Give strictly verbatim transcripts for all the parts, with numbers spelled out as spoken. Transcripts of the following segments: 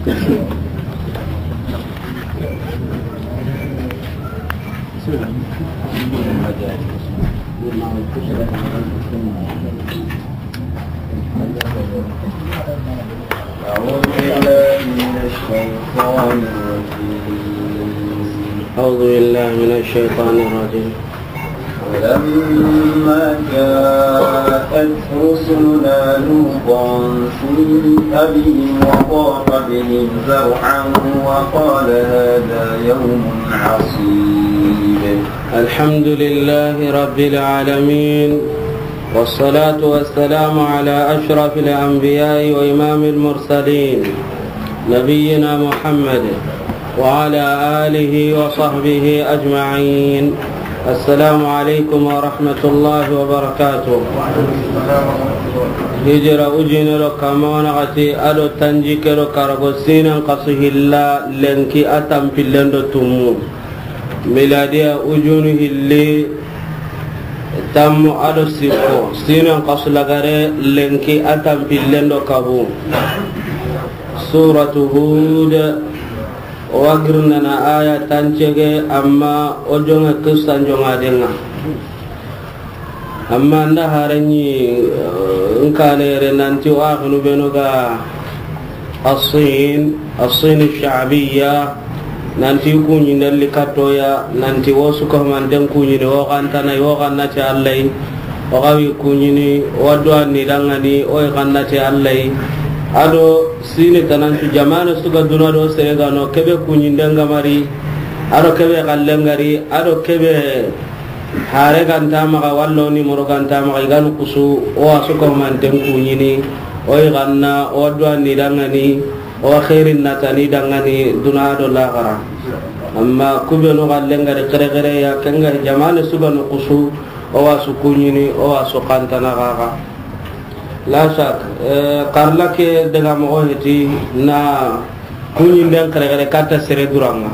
أعوذ بالله من الشيطان الرجيم. أعوذ بالله من الشيطان الرجيم. ولما جاءت رسلنا لوطا سيء بهم وضاق بهم ذرعا وقال هذا يوم عصيب. الحمد لله رب العالمين، والصلاة والسلام على أشرف الأنبياء وإمام المرسلين، نبينا محمد وعلى آله وصحبه أجمعين. السلام عليكم ورحمة الله وبركاته. Hijira ujine do kama wa naxati, a do tanjikke do karago, siinen xasu hilla lenki a tanpillen do tumu. Miladiya ujunu hilli tammu a do sikko, siinen xasu lagare lenki a tanpillen do kabu. Suratu Hud, o wa girindana aya tancege, amma o jonge kissan jongaden ŋa. Amma n da hare ɲi, eh, n kane yere nanti o axinu benu ga Asin, Asin Shaabiya, nanti kuɲinden li kattoya, nanti wo su ko manten kuɲini, wo xantana, wo xanna ti Alla yi, wo xawi kuɲini, wo duwa ni dangani, wo xanna ti Alla yi. A do sine tanancu jamane su ga duna do sere ga no, kebe kuɲinden ga mari, a do kebe xallen ga ri, a do kebe hare ga nta maxa, wallo ni moro ga nta maxa, i ga ni kusu, o wa su ko manten kuɲini, o yi ganna, o wa duwa ni dangani, o wa xeerin natani dangani, duna do laxara. Amma kubenu xallen ga ri xerexere ya, ken ga jamane su ga ni kusu, o wa su kuɲini, o wa su xantana xaxa. La shak, eh, karla ke daga moxo heti na kuɲinden xerexere katta sere duran ŋa.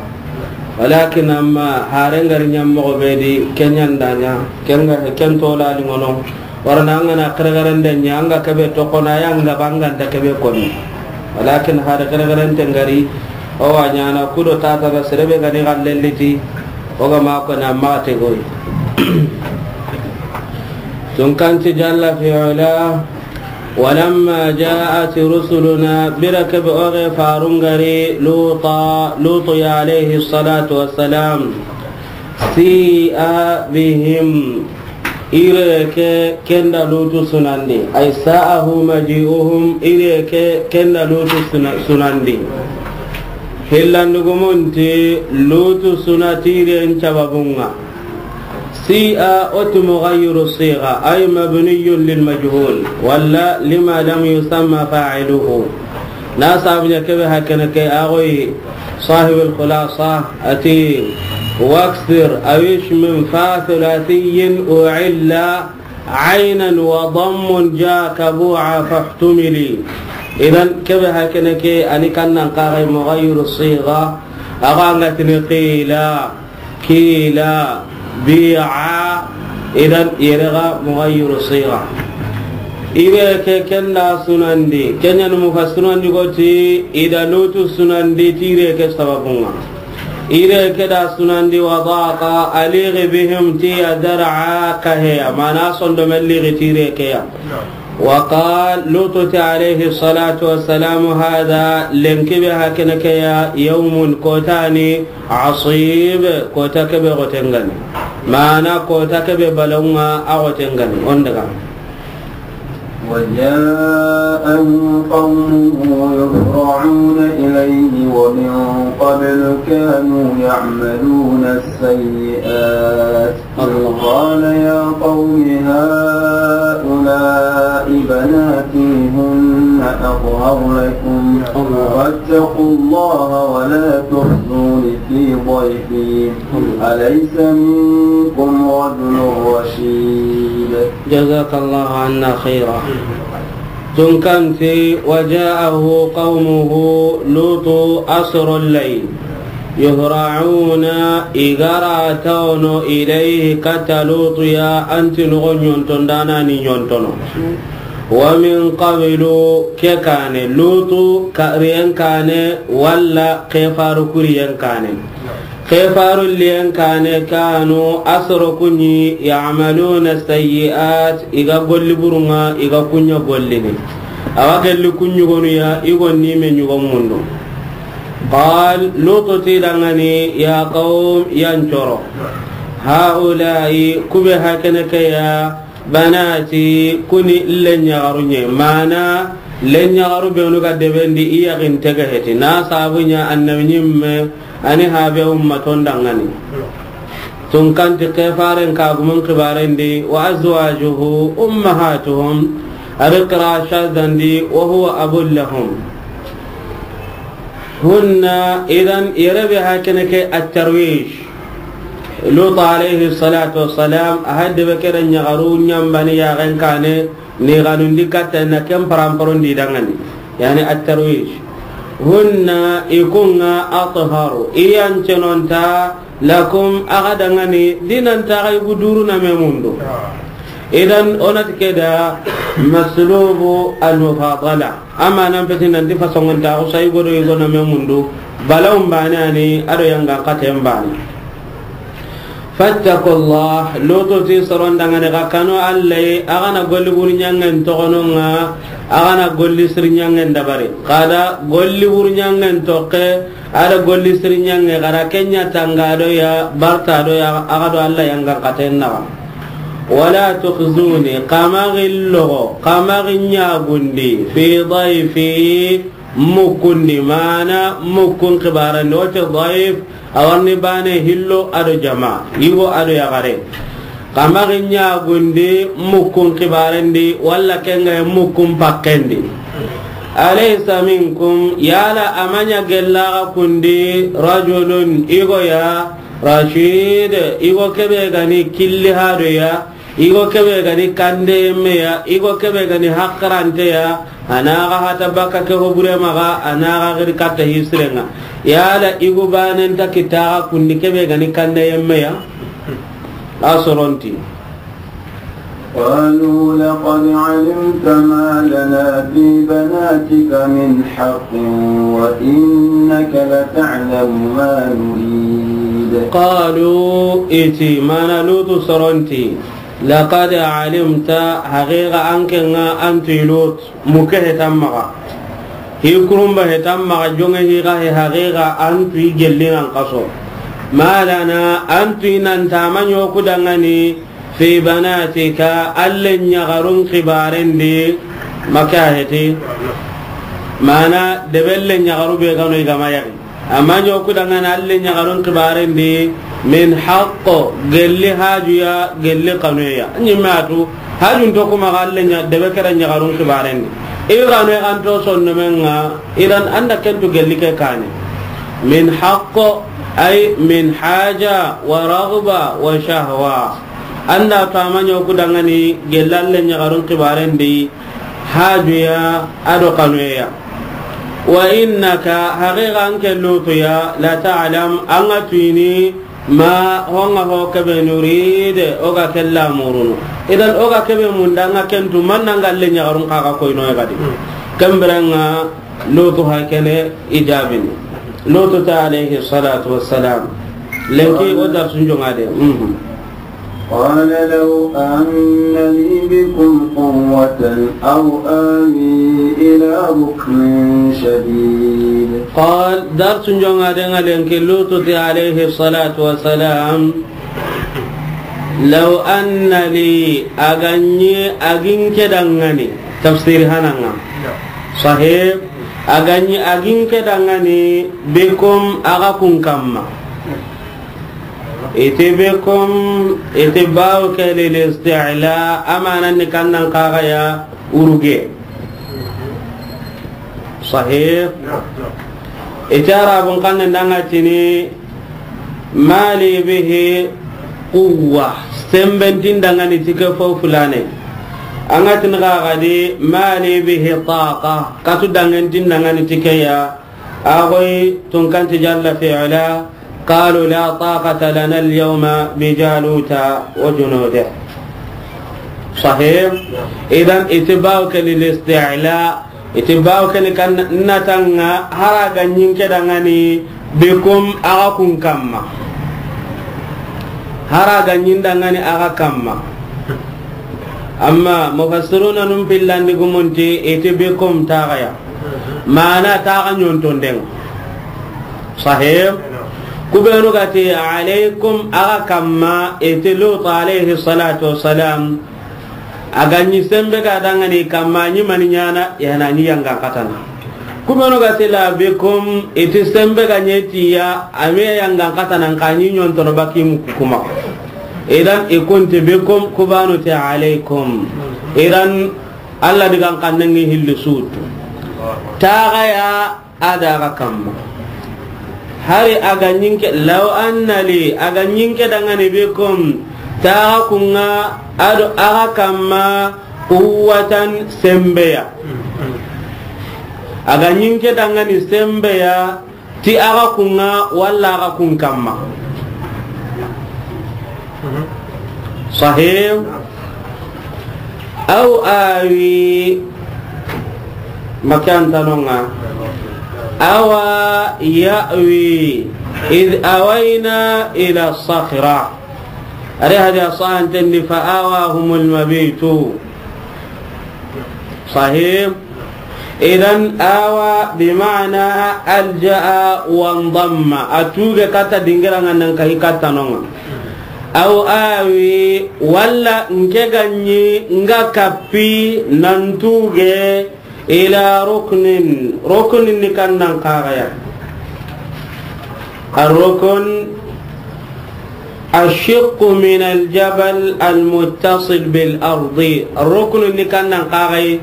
Walakin amma haren ga ri ɲa moxo be di, ken ɲa nda ɲa, ken ga, ken tola li ŋono. Warana an ga na xerexerende ɲa, an ga kebe toxo na ya, an ga banganta kebe koni. Walakin hare xerexerenten ga ri, o wa ɲaana kudo tata na sere be ga ni xallelliti, o ga ma ko na ma te goy. Tunkanti jalla fi ula, walamma ja'at rusuluna, bira kebe o ge farun ga ri Luta, Lutu ya alayhi salatu wassalam, si'a bihim, ire ke ken da Lutu sunandi, ay sa'ahu maji'uhum, ire ke ken da Lutu suna-, sunandi. Hillandugumunti Lutu suna ti iren sababun ŋa. Si'a o ti mughayyiru sigha, ay mabniyun lil majhul, walla lima lam yusamma fa'iluhu. Na sabu ɲa kebe hakene ke a goyi sahibul khulasa a ti, waksir awish min fa thulathiyin u'illa aynan wa dammun ja kabu'a fahtumili. Idan kebe hakene ke ani kannan kagai mughayyiru sigha, a ga nga tini qila, kila, bi'a, idan yere ga mughayyiru sigha. Ire ke ken da sunandi, ken ɲa ni mufassirun di ko ti i da Lutu sunandi ti ire ke sababun ŋa. Ire ke da sunandi wa daqa a ligi bihim ti ya dar'a kaheya, mana sondomen ligi ti ire ke ya. Wa qal, Lutu ti alayhi salatu wassalam, hada, lenki be hakene ke ya, yawmun, kota ni, asib, kota kebe goten ga ni. Mana kota kebe balawun ŋa a goten ga ni. On daga. وجاءه قومه يهرعون إليه ومن قبل كانوا يعملون السيئات. الله. قال يا قوم هؤلاء بناتي هن أطهر لكم الله. فاتقوا الله ولا تخزون في ضيفي. الله. أليس منكم رجل رشيد. جزاك الله عنا خيرا. Tunkanti, وجاءه قومه لوط أسر الليل يهرعون, i ga ra tawono, إليه, katta Lutu ya, anti nogo ɲonton dana ni ɲontono. Wa min qablu, ke kaane, Lutu ka-, riyen kaane, walla kefaru ku riyen kaane. Kefaru riyen kaane, kanu, a soro ku ɲi, ya'maluna sayyi'at, i ga golli burun ŋa, i ga ku ɲa gollini. Awa gelli ku ɲugonu ya, i gonni me ɲugon mundu. Qal, Lutu ti i danŋa ni, ya qawm, yan coro. Ha'ula'i, ku be hakene ke ya, banati, ku ni n lenyaxaru ɲa. Mana, lenyaxaru benu ga debendi, i yaxin tege heti. Na sabu ɲa annabi ɲimme, a ni habe ummaton danŋa ni. Tunkanti kefaren kagumun kibaren di, wa azwajuhu ummahatuhum, a ri qira shaddan di, wa huwa abun lahum. Hunna, idan, yere be hakene ke at-tarwij. Lut alayhi salatu wassalam, a hadde be kere ɲaxaru ɲambani yaxen kaane, ni xanundi katta na ken paramparon di danŋa ni. Yani at-tarwij. Hunna, i ku ŋa, atharu, i yan cenonta, lakum, a ga danŋa ni, di nan ta ga i gu duru na me mundu. Idan, o na ti ke da maslubu al-mufadala. Amma nan peti nan ti fasongon ta, o sa i go do i go na me mundu. Balawun bane a ni, a do yangan katen bane. Fattakullah, Lutu ti soron danŋa ni ga kanu Alla yi, a ga na golli buru ɲanŋen toxonon ŋa, a ga na golli siri ɲanŋen dabari. Xa da golli buru ɲanŋen toxe, a da golli siri ɲanŋe, xa da ken ɲa tanga do ya, barta do ya, a ga do Alla yangan katen naxa. Wala tukhzuni, xa ma xi loxo, xa ma xi ɲagundi, fi dayfi, mukkundi, mana mukkun kibaren di, o ti dayf, a wa ni bane hillo a do jama, yigo a do yaxare. Xa ma xi ɲagundi mukkun kibaren di, walla ken ŋa mukkun pakken di. Alaysa minkum, yala a ma ɲa gella xa kun di, rajulun, yigo ya, rashid, yigo ke be ga ni killi hado ya, yigo ke be ga ni kande yemme ya, yigo ke be ga ni haqqarante ya, a na xa hata bakka ke ho bure maxa, a na xa xiri katta hi siren ŋa. Yala yigo banen ta kita xa kun di ke be ga ni kande yemme ya? A soron ti. قالوا لقد علمت ما لنا في بناتك من حق وإنك لتعلم ما نريد. Qalu, i ti, mana Lutu soron ti, laqad alimta, haqiqa an ke ŋa an ti Lut, muke hetan maxa. Hi kurumba hetan maxa, jonŋe hi ga he haqiqa an ti gelli nan kaso. Ma lana, an ti nan ta ma ɲo ku danŋa ni, fi banatika, an lenyaxarun kibaren di, maka heti. Mana, debe lenyaxaru be ga no i ga ma yaxi. A ma ɲo ku danŋa ni an lenyaxarun kibaren di, min haqqo, gelli haju ya, gelli xanu ya. Ɲimme a tu, hajun to ku maxa an lenya-, debe kere ɲaxarun kibaren di. I ga no i ga nto sonno men ŋa, idan an da ken tu gelli ke kaane. Min haqqo, ay min haja wa raghba wa shahwa. An da to a ma ɲo ku danŋa ni gella an lenyaxarun kibaren di, haju ya, a do xanu ya. Wa innaka, haqiqa an ke Lutu ya, la ta'lam, an ga tuyini, ma, ho ŋa ho ke be nurid, o ga ke lamurunu. Idan o ga ke be munda an ga ken tu, man na an ga lenyaxarun xa ga koyno ya ga di. Ken biren ŋa Lutu hakene i jaabini. Lutu ta alayhi salatu wassalam. Lenki o darsun jonŋa de. Mhm. قال لو أن لي بكم قوة أو آوي إلى ركن شديد. Qal, darsun jonŋa de ŋa lenki Lutu ti alayhi salatu wassalam, law anna li, a ga ɲi a gi n ke danŋa ni, tafsir hanan ŋa. Sahib, a ga ɲi a gi n ke danŋa ni, bikum, a ga kun kamma. Iti bikum, iti bawu ke lil isti'la, a manan ni kannan kaga ya uruge. Sahih. Iti Arabun kannen danŋa tini, ma li bihi quwwa, semben ti n danŋa ni ti ke fo fulane. An ga tini kaga di, ma li bihi taqa, katu danŋen ti n danŋa ni ti ke ya. Agoy tunkanti jalla fi'la, qalu la taqata lana al-yawma bi Jaluta wa junudihi. Sahih. Idan, iti bawo ke ni listi'la, iti bawo ke ni kan na tanga, hari a ga ɲi n ke dangani, bikum, axa kun kamma. Hari a ga ɲi n dangani axa kamma. Amma mufassiruna nun pillandi gumunti, iti bikum taxaya. Mana taxa ɲontonden. Sahih. Ku benu ga ti alaykum, axa kamma, iti Lut alayhi salatu wassalam. A ga ɲi sembe ga dangani kamma, ɲi mani ɲana, yana ɲi yangan katana. Ku benu ga ti la bikum, iti sembe ga ɲi ti ya, a me yangan katana, n ka ɲi ɲontono baki mu kuma. Idan, i kunti bikum, ku benu ti alaykum. Idan, Alla digan xannen ŋi hilli sutu. Taxaya a da axa kamma. Hari a ga ɲi n ke, law anna li, a ga ɲi n ke dangani bikum, taxa kun ŋa, a do axa kamma, quwwatan, sembeya. A ga ɲi n ke dangani sembeya, ti axa kun ŋa, walla axa kun kamma. Sahih. Aw awi, makantanonga. Awa ya'wi, idh awayna ila sakhra. Ari hadi asahan tendi fa awahumul mabitu. Sahih. Idan awa bi ma'na alja'a wa ndamma. A tuge kata dingira nga nan kahi kata nonga. Aw awi, walla n ke ga ɲi nga kappi nan tuge ila ruknin. Ruknin ni kan nan kaxaya. Ar-rukn الشق من الجبل المتصل بالأرض. Ruknu ni kan nan kaxay,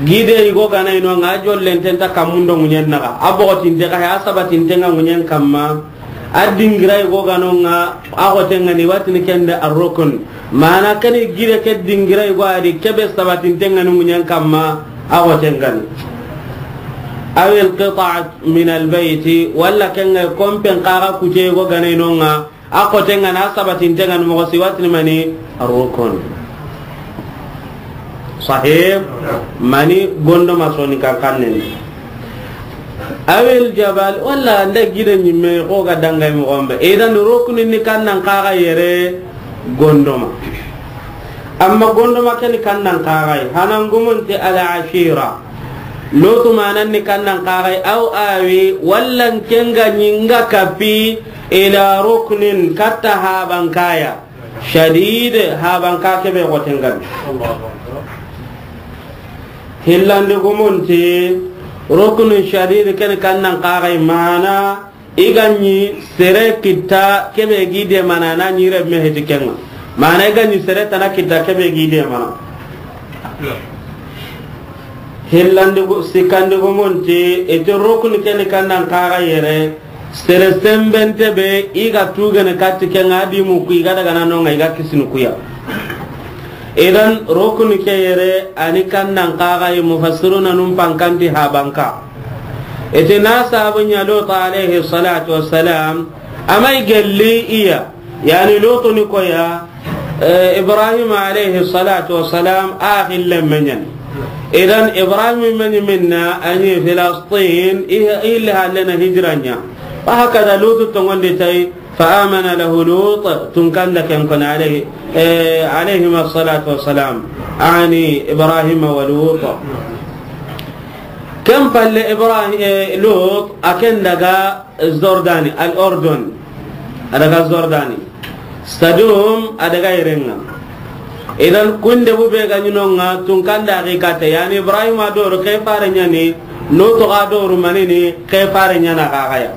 gide yigo gana ino nga jollenten ta kammun do ŋuɲen naxa. A boxotinte kaxe, a sabatinte nga ŋuɲen kamma. A dingira yigo gano nga, a xoten ŋa ni watini kende ar-rukn. Mana kani gide ke dingira yigo a di kebe sabatinte nga ni ŋuɲen kamma, a xoten ŋa ni. Aw al-qit'at min al-bayt, walla ken ŋa kompen kaxa kute yigo gana ino nga, A xoten ŋa na, a sabatinten ŋa ni, moxo si watini mani? Rukun. Sahih. Mani? Gondoma soni kankannen. Awil jabal, walla nda gide ɲimme xo ga dangay moxon be. Idan rukuni ni kannan kaxa yere gondoma. Amma gondoma ke ni kannan kaxay, hanan gumunti al ashira. Lotu manan ni kannan kaxay, aw awi, walla n ke nga ɲi nga kapi, ila ruknin, katta habankaya, shadid, habanka kebe xotengan. Hillandi gumunti, ruknin shadid ken kannan kaxay mana, i ga ɲi sere kitta kebe gi de mana na ɲi remme heti kenga. Mana i ga ɲi sere tana kitta kebe gi de mana. Hillandi gu-, sikkandi gumunti, iti rukuni ke ni kannan kaxa yere, sere sembente be, i ga tugene katti kenga, a di muku, i ga daga na nonga, i ga kisini kuya. Idan, rukuni ke yere, a ni kannan kaxa yi, mufassiruna num pankanti habanka. Iti na sabu ɲa Lutu alayhi salatu wassalam, amay gelli iya, yani Lutu ni koya, eh, Ibrahim alayhi salatu wassalam, a xille meɲan. Idan Ibrahim meɲi minna, a ɲi Filastin, i, i le hallena hijranya. Wa hakada Lutu tongondi tay, fa amana lahu Lut, tunkanda ken kon alayhi, eh, alayhima salatu wassalam, ani Ibrahim wa Lut. Ken palle Ibrahim, eh, Lut, a ken daga Jordani, al Ordon. A daga Jordani. Sadum a daga yerenga. Idan kunde bu be ga ɲi nonga tunkanda xi kate, yani Ibrahim a doro ke fare ɲani, Lutu ga doro manini ke fare ɲana kaxaya.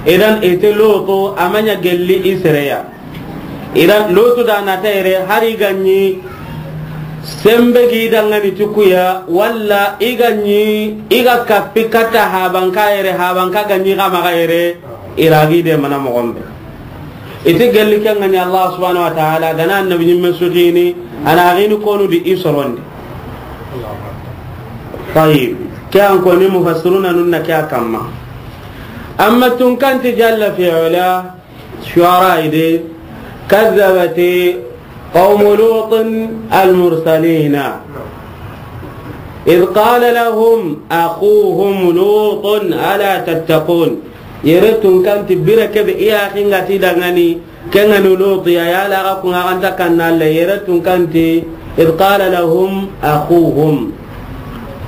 Idan iti Lutu a maɲa gelli i sereya. Idan Lutu da na tayre hari ga ɲi sembe gi dangani tukuya, walla i ga ɲi i ga kapi katta habanka yere, habanka ga ɲi xa maxa yere, i ra gi de mana moxon be. Iti gelli kenga ni Allah subhanahu wa ta'ala, gana annabi ɲimme sutini, ana gini konu di i sorondi. Tayyib. Ke an koni mufassiruna nunna ke a kamma. Amma tunkanti jalla fi ula, Shu'ara ide, kazzabati قوم لوط المرسلين. إذ قال لهم أخوهم لوط ألا تتقون. Yere tunkanti bire kebe i yaxi nga ti dangani, ke nga ni Luti ya, yala ga ku nga ga nta kanna Alla, yere tunkanti, إذ قال لهم أخوهم.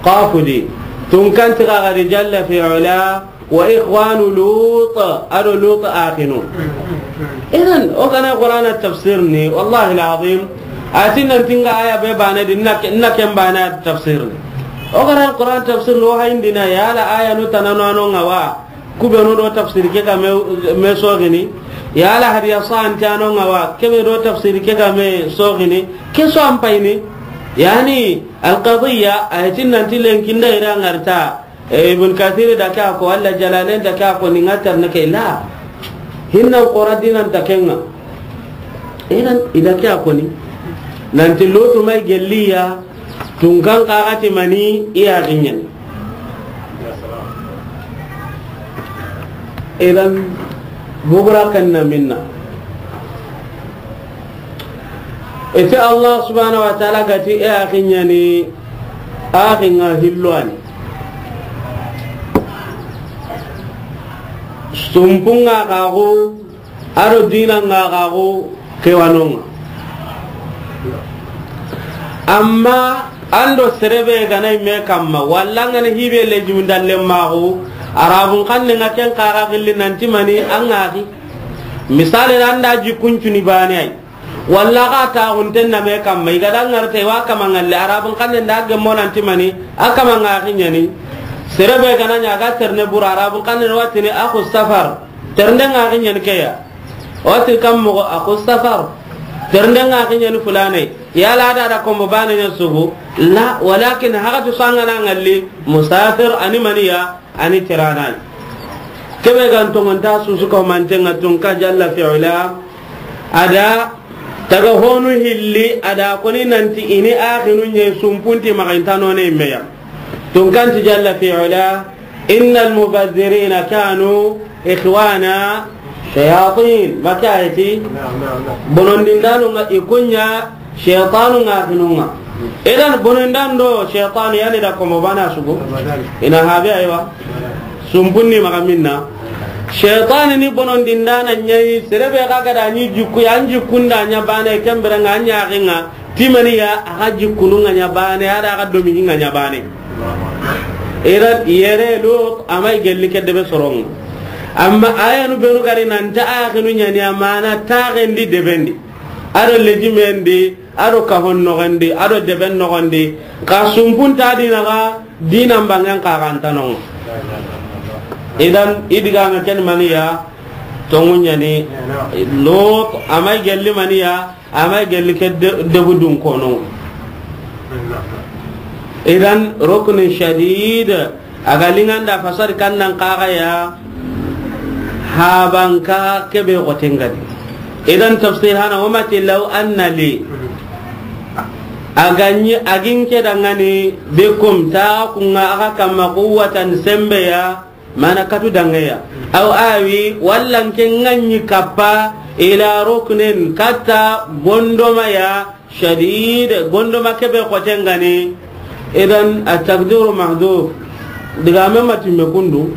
Qafu di. Tunkanti ga ga di jalla fi ula, وإخوان لوط, a do Lut axinu. Idan, o ga na Qur'ana tafsir ni, wallahi al-azim, a ti nan ti nga aya be bane di, na ke-, na ken bane tafsir ni. O ga na Qur'ana tafsir ni, o hayindina, yala aya nu tanano ano nga wa, ku be nu do tafsir ke ga me, me soxini, yala hadiya sante ano nga wa, ke be do tafsir ke ga me soxini, ke so an payini. Yani, al-qadiyya, a ti nan ti lenki nda ira ngarta, E, Ibn Kathir da ke a ko, walla Jalalain da ke a ko, ni nga tarne ke la. Hinnan Qur'an dinan ta kenga. Idan, i da ke a ko ni. Nan ti Lutu ma i gelli ya, tunkan ka ga ti mani i ya ginyen. Idan, bugura kan na minna. Ite Allah subhanahu wa ta'ala ga ti i ya ginyen ni, a ginga hillo ani. Sumpunga gago, a do dinanga gago, kewanonga. Amma an do sere be ga na i me kamma, walla nga na hi be lejimu ndalle maxu, Arabun xanne nga ken xa ga gilli nan ti mani an ga xi. Misali, an da jikkun cuni bane ay. Walla ga ta hunten na me kamma, i ga da ngarta i wa kama ngalle, Arabun xanne nda gemmo nan ti mani, a kama nga ginyen ni. Sere be ga na ɲa ga terne buru, Arabun xanne wa tini akhu safar. Ternde nga ginyen ni ke ya. O ti kam moxo akhu safar. Ternde nga ginyen ni fulane. Yala da da kombo bane ɲa sugu. La, walakin haqatu sanga na ngalli, musafir ani mani ya, ani tirana. Kebe ga n tongonta susu ko mantenga tunka jalla fi ula. A da taga honu hilli, a da ko ni nan ti i ni axinu ɲe sumpunti maxa i nta no ne me ya. Tunkanti jalla fi ula, إن المبذرين كانوا إخوان شياطين. Ma ke a yi ti? Bonondindanu nga i ku ɲa shaytanu nga axinu nga. Idan bonondan do shaytanu yani da komo bana sugu. I na habe aywa. Sumpunni maxa minna. Shaytani ni bonondindana ɲa yi, sere be ga ga da ɲi jikku ya, an jikkun da ɲa bane, ken bire nga an ɲa axi nga. Ti mani ya, a ga jikkunu nga ɲa bane, a da a ga domi nga ɲa bane. Idan yere Lut a ma i gelli ke debe soronga. Amma ayanu benu gari nan ta axinu ɲa ni, amana taxendi debendi. A do lejimendi, a do kahon noxondi, a do deben noxondi. Ka sumpun ta dina ga, dinan bangen xa ga nta nonga. Idan i diga me ken mani ya, tongu ɲa ni. Lut a ma i gelli mani ya, a ma gelli ke de-, debu dun kono. Idan ruknin shadid, a ga linganda fasari kannan kaga ya, habanka kebe goten gadi. Idan tafsir hana, wa ma ti law anna li. A ga ɲi, a gin ke dangani, bikum, ta ku nga a ga kamma, quwwatan, sembe ya, mana katu dangeya. Aw awi, walla n ke nga ɲi kappa, ila ruknin, katta gondoma ya, shadid, gondoma kebe xoten gani. Idan, a takdiru mahdhuf. Diga me matimme kundu.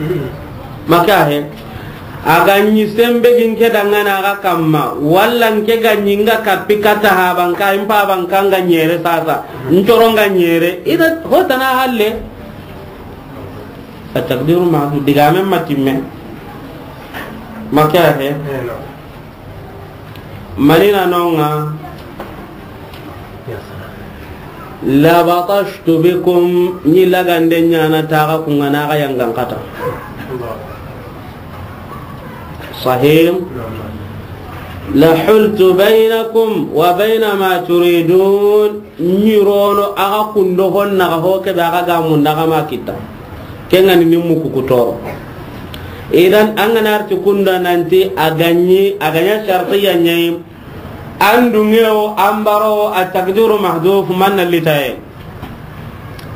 Maka he. A ga ɲi sembe gin ke dangana a ga kamma, walla n ke ga ɲi nga kappi katta habanka, impa banka nga ɲere sasa. Ncoro nga ɲere. Idan, hotana halle. A takdiru mahdhuf, diga me matimme. Maka he. Manina nonga. La batashtu bikum, ni lagande ɲana taga ku nga na ga yangan kata. Sahih. La hultu bainakum wa baina ma turidun. Ɲirono a ga kundo honna ga ho kebe a ga ga munda ga ma kitta. Kengani ni muku kutoro. Idan an ga na arti kunda nanti a ga ɲi, a ga ɲa shartiya ɲayi. An dungewo, an baro, a takdiru mahdhuf, man na litaye.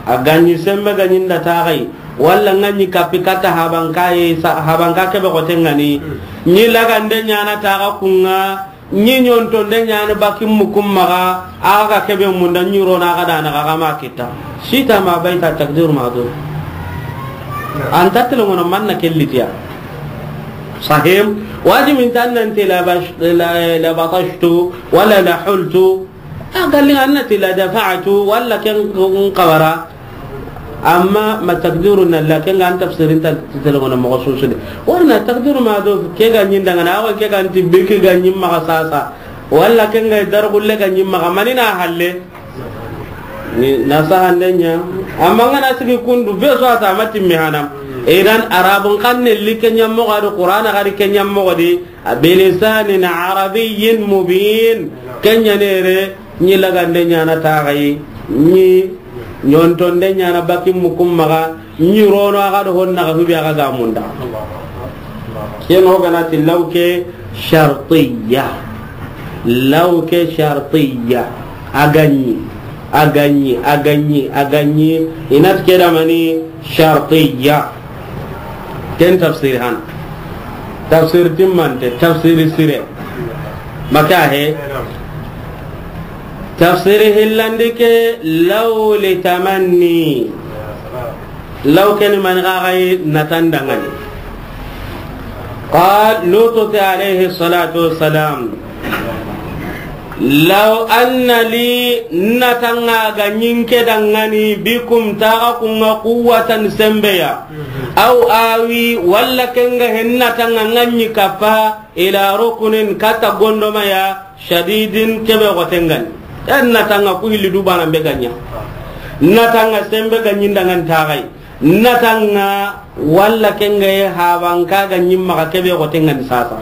A ga ɲi sembe ga ɲi nda tagai. Walla nga ɲi kappi katta habanka ye, sa-, habanka kebe xoten gani. Ɲi lagande ɲana taga ku nga. Ɲi ɲontonde ɲaana bakin mukum maxa, axa ga kebe munda ɲi rona axa dana axa ma kita. Shi'ta ma bayta, takdiru mahdhuf. An ta tele ŋono manna kellitiya. Sahim, wajibin tan nan ti la bash-, la, la batashtu, wala la hultu. A galli an na ti la dafa'tu, wala ken xabara. Amma ma takdiru na la, ken ga an tafsirin ta tele ŋono moxo susu de. Warna takdiru mahdhuf, ke ga ɲi dangana, awa ke ga nti be ke ga ɲi maxa sasa. Wala ken ga dargulle ga ɲi maxa, mani na halle. Ni na sahande ɲa. Amma ngana sigi kundu, be so a ta ma timmi hanam. Idan Arabun xanne li ke ɲa moxo di, Qur'ana ga ri ke ɲa moxo di. Bilisanin arabiyyin mubin. Ken ɲa nere, ɲi lagande ɲaana taxayi, ɲi ɲontonde ɲaana bakin mukum maxa, ɲi rono axa do honna ga hubi axa ga munda. Ken o gana ti law ke shartiyya. Law ke shartiyya. A ga ɲi, a ga ɲi, a ga ɲi, a ga ɲi. I na ti ke da mani shartiyya. Ken tafsir han. Tafsir timmante, tafsir sire. Maka he. Tafsir hillandi ke law li tamanni. Law ken mani ga ga yi na tandangani. Qal, Lutu ti alayhi salatu wassalam. Law anna li, na tanga ga ɲi n ke dangani, bikum, taxa kunga, quwwatan, sembeya. Aw awi, walla ken ga he na tanga nga ɲi kappa, ila rukunin, kata gondomaya, shadidin, kebe xote ngani. En na tanga ku hilli du bana be ga ɲa. Na tanga sembe ga ɲi n dangan taxayi. Na tanga walla ken ga ye habanka ga ɲi maxa kebe xote ngani sasa.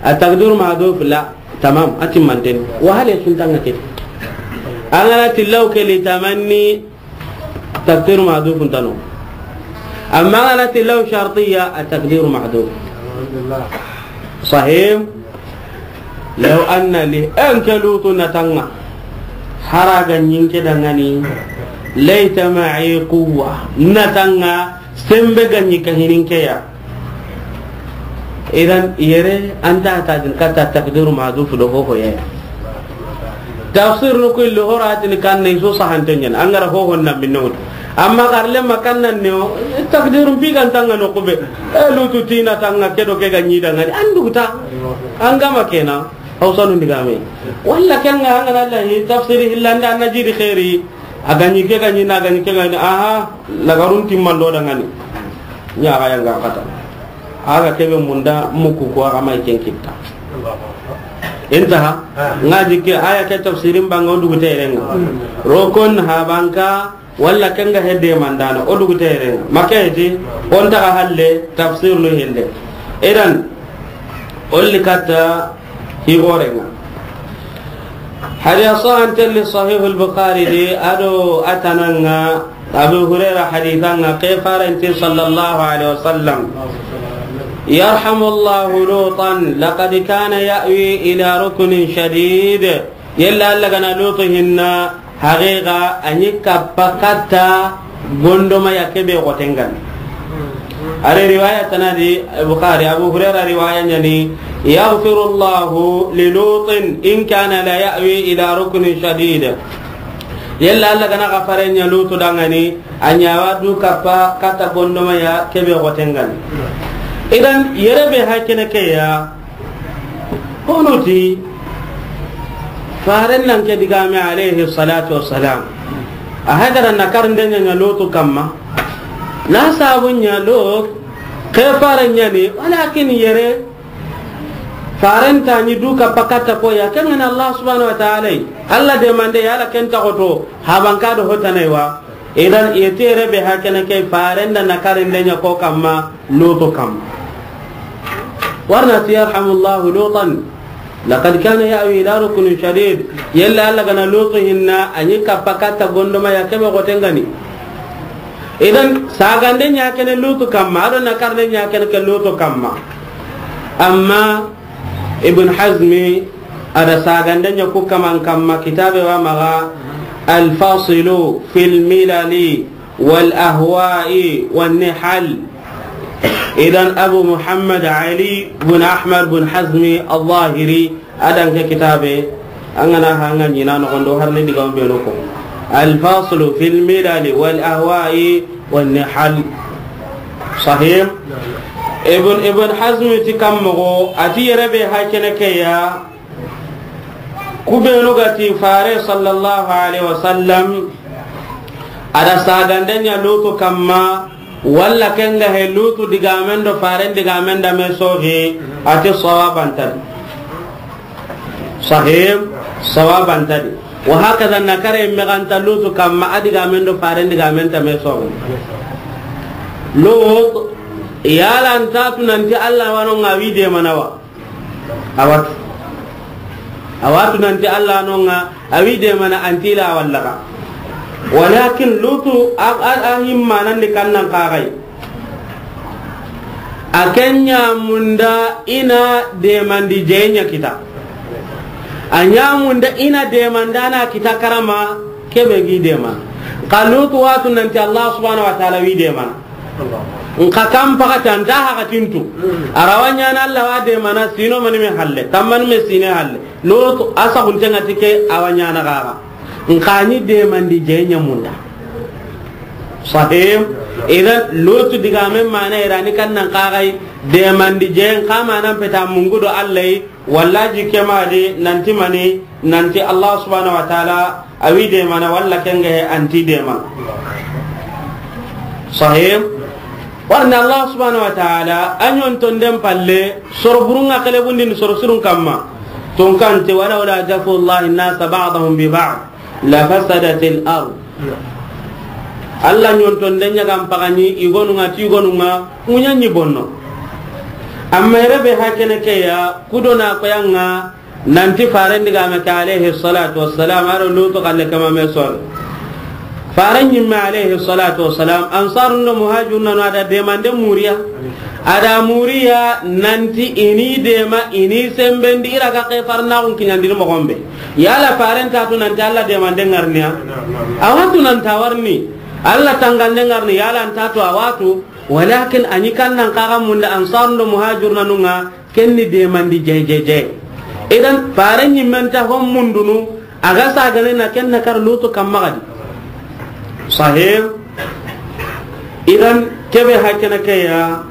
A takdiru mahdhuf la, tamam, a timmanten. Wa hale sun tanga ke. An ga na ti law ke li tamanni, takdiru mahdhuf ntano. Amma an ga na ti law shartiyya, a takdiru mahdhuf. Sahim. Law anna li, en ke Lutu na tanga. Hara ga ɲi n ke dangani. Layta ma'i quwwa. Na tanga sembe ga ɲi ka hini n ke ya. Idan yere an ta ta din kata takdiru mahdhuf do ho ho ya. Tafsir no ko illo horatin kan ne so sahante ɲan. An ga ra ho ho na minno. Amma karle makannan ne o, takdiru bi kan tanga no kube. E Lutu ti na tanga ke do ke ga ɲi dangani. An duguta. An ga ma kena. Hawsanu ndigame. Walla ken ga an ga na lahi tafsiri hillanda an na jiri khairi. A ga ɲi ke ga ɲi na ga ɲi ke ga ɲi. Aha, lagarun timman do dangani. Ɲa ga yanga kata. A ga kebe munda muku ko a ga mai ken kitta. Intaha. Nga jikke aya ke tafsirin banga o dugu terenga. Rokon habanka. Walla ken ga hedde mandana, o dugu tere. Maka heti, on taga halle, tafsir no hende. Idan, olli katta higorenga. Hadiya sahan telli Sahih al-Bukhari di, ado atananga, Abu Hurairah hadithanga, ke faranti sallallahu alaihi wasallam. يرحم الله لوطا لقد كان يأوي إلى ركن شديد. Yella Alla gana Lutu hinna, haqiqa a ɲi kappa katta gondoma ya kebe gotengan. Are riwaya tanadi Bukhari, Abu Hurairah riwaya ɲani, يغفر الله للوط إن كان ليأوي إلى ركن شديد. Yella Alla gana gafare ɲa Lutu dangani, a ɲa wa du kappa katta gondoma ya kebe gotengan. Idan yere be hakene ke ya, Kono ti, faren nan ke digame alayhi salatu wassalam. A hagara na karinde ɲa Lutu kamma. Na sabu ɲa Lutu, ke faren ɲani, walakin yere, faren ta ɲi du kappa katta ko ya, ken ŋa ni Allah subhanahu wa ta'ala. Allah demande ya la ken ta goto, habanka do hotana wa. Idan, i tere be hakene ke faren da na karinde ɲa ko kamma, Lutu kamma. Warna ti يرحم الله لوطا لقد كان يأوي إلى ركن شديد. Yella Alla gana Lutu hinna, a ɲi kappa katta gondoma ya kebe gotengani. Idan, sagande ɲa kene Lutu kamma, ado na karinde ɲa kene ke Lutu kamma. Amma Ibn Hazmi, a da sagande ɲa ku kaman kamma kitabe wa maga الفاصل في الملل والأهواء والنحل. Idan Abu Muhammad Ali bin Ahmad bin Hazmi Al-Zahiri, a da ke kitabe, an ga na ha an ga ɲi na noxon do har ni diga be no ko. Al-Faslu fil Milali wal Ahwa'i wan Nihal. Sahih? Ibn, Ibn Hazmi ti kammoxo, a ti yere be ha kene ke ya, Ku benu ga ti Fare sallallahu alaihi wasallam, a da saganden ɲa Lutu kamma, walla ken ga he Lutu digamen do Faren digamen da me soxi, a ti sawaban ta di. Sahih, sawaban ta di. Wa hakaza na kare me ga nta Lutu kamma, a digamen do Faren digamen ta me soxi. Lutu, yala nta tu nanti Allah wa no ŋa wi de mana wa. A wa tu. A wa tu nanti Allah no ŋa, a wi de mana anti la walla ka. Walakin Lutu a, a, a himma nan di kannan kagai. A ken ɲa munda i na demandi je ɲa kita. A ɲa munda i na demandana kita karama, kebe gi de mana. Ka Lutu wa tu nanti Allah subhanahu wa ta'ala wi de mana. Nka kan pakati anta hakatintu. A ra wa ɲaana Allah wa de mana sino mani me halle. Kan mani me sine halle. Lutu a saxunte ŋa ti ke a wa ɲaana gaga. Nka ni demandi je ɲa munda. Sahih. Idan Lutu digamen mana irani kannan kagai demandi je nka manan peta mungu do Allah yi. Walla ji ke ma di nanti mani, nanti Allah subhanahu wa ta'ala a wi de mana walla ken ga he anti de mana. Sahih. Warna Allah subhanahu wa ta'ala a ɲonton den palle soro burun ŋa kele bundi ni soro surun kamma. Tun kan te, "Walawla daf'ullahi an-nasa ba'dahum bi ba'd la fasadatil ard." Allah ɲonton den ɲa ga n pagani i gonu ŋa ti i gonu ŋa ŋuɲa ɲi bonno. Amma yere be ha kene ke ya, ku do na ko ya ŋa, nanti Faren digame ke alayhi salatu wassalam, a do Lutu kalle kama me son. Faren ɲimme alayhi salatu wassalam, Ansarun do Muhajiruna no a da demande muriya. A da muriya nanti i ni dema, i ni sembendi, i ra ga ke farnaxun kiɲandini moxon be. Yala Faren ta tu nanti Allah demande ŋarniya? A wa tu nan ta warni. Allah tangande ŋarni, yala nta tu a wa tu. Walakin a ɲi kannan kaga munda Ansarun do Muhajiruna nu ŋa, ken ni demandi jay, jay, jay. Idan, Faren ɲimmen ta hon mundunu, a ga sagane na ken na kar Lutu kamma gadi. Sahih. Idan, kebe ha kene ke ya,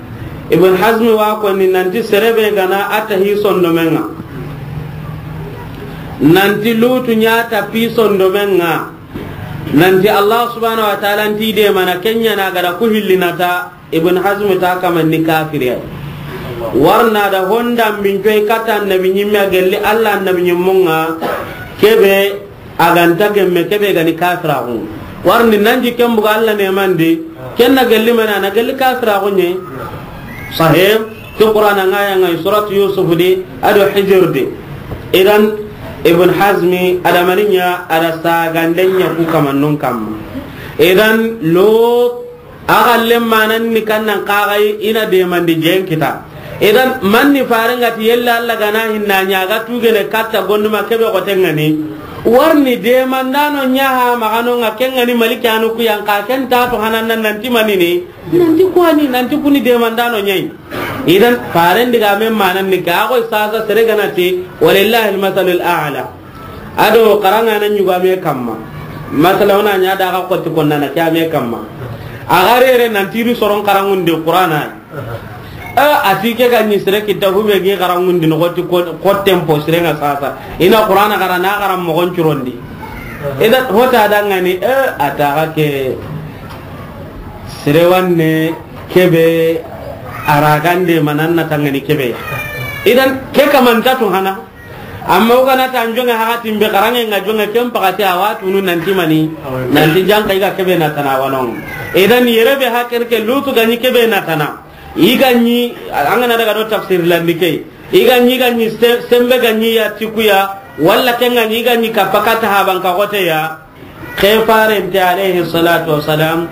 Ibn Hazmi wa ko ni nanti sere be ga na a ta hi sondomen ŋa. Nanti Lutu ɲa ta pi sondomen ŋa. Nanti Allah subhanahu wa ta'ala nti de mana ken ɲa na ga da ku hilli na ta. Ibn Hazm ta kaman ni kafiri ya. Warna da honda mbin coy kata annabi ɲimme a gelli Allah annabi ɲimmun ŋa, kebe a ga nta gemme, kebe ga ni kafiraxu. Warni nan ji ken buga Allah ne mandi, ken na gelli mana na gelli kafiraxu ɲe. Sahih, ti Qur'ana ŋa ya ŋa surat Yusuf di, a do Hijr di. Idan Ibn Hazmi a da mani ɲa, a da saganden ɲa ku kamannun kamma. Idan Lut A xalle manan ni kannan kaxay i na demandi jen kita. Idan, man ni faren ga ti yella Allah ga na hinna ɲa ga tugene katta gonduma kebe xoten ŋa ni. Warni demandano ɲa ha maxano ŋa ken ŋa ni maliki anu ku yan xa ken ta to hanan nan nanti manini. Nanti kuwani, nanti kuni demandano ɲa yi. Idan, faren digamen manan ni ga xoy sasa sere ga na ti, walillahi almasalul a'la. A do xaranŋa na ɲuga me kamma. Masala o na ɲa da ga xotti konna na ke a me kamma. A ga rere nan ti ri soron xaranŋunde Qur'ana. Eh, a ti ke ga ɲi sere kita hube gi xaranŋundi no xotti ko, xotten po sere ŋa sasa. I na Qur'ana xara na xaran moxon curondi. Idan hota da ŋa ni, eh, a ta ga ke sere wanne kebe a ra gande manan na ta ŋa ni kebe. Idan ke kamanta to hana. Amma o ga na ta an jonŋe haxatin be xaranŋe ŋa jonŋe ken paxati a wa tunu nanti mani, nanti janka i ga kebe na tana wanon. Idan yere be hakken ke Lutu ga ɲi kebe na tana. I ga ɲi, an ga na daga do tafsir landi ke. I ga ɲi, ga ɲi se-, sembe ga ɲi ya ti ku ya, walla ken ga ɲi, i ga ɲi kappa katta haban ka xote ya. Ke farente alayhi salatu wassalam,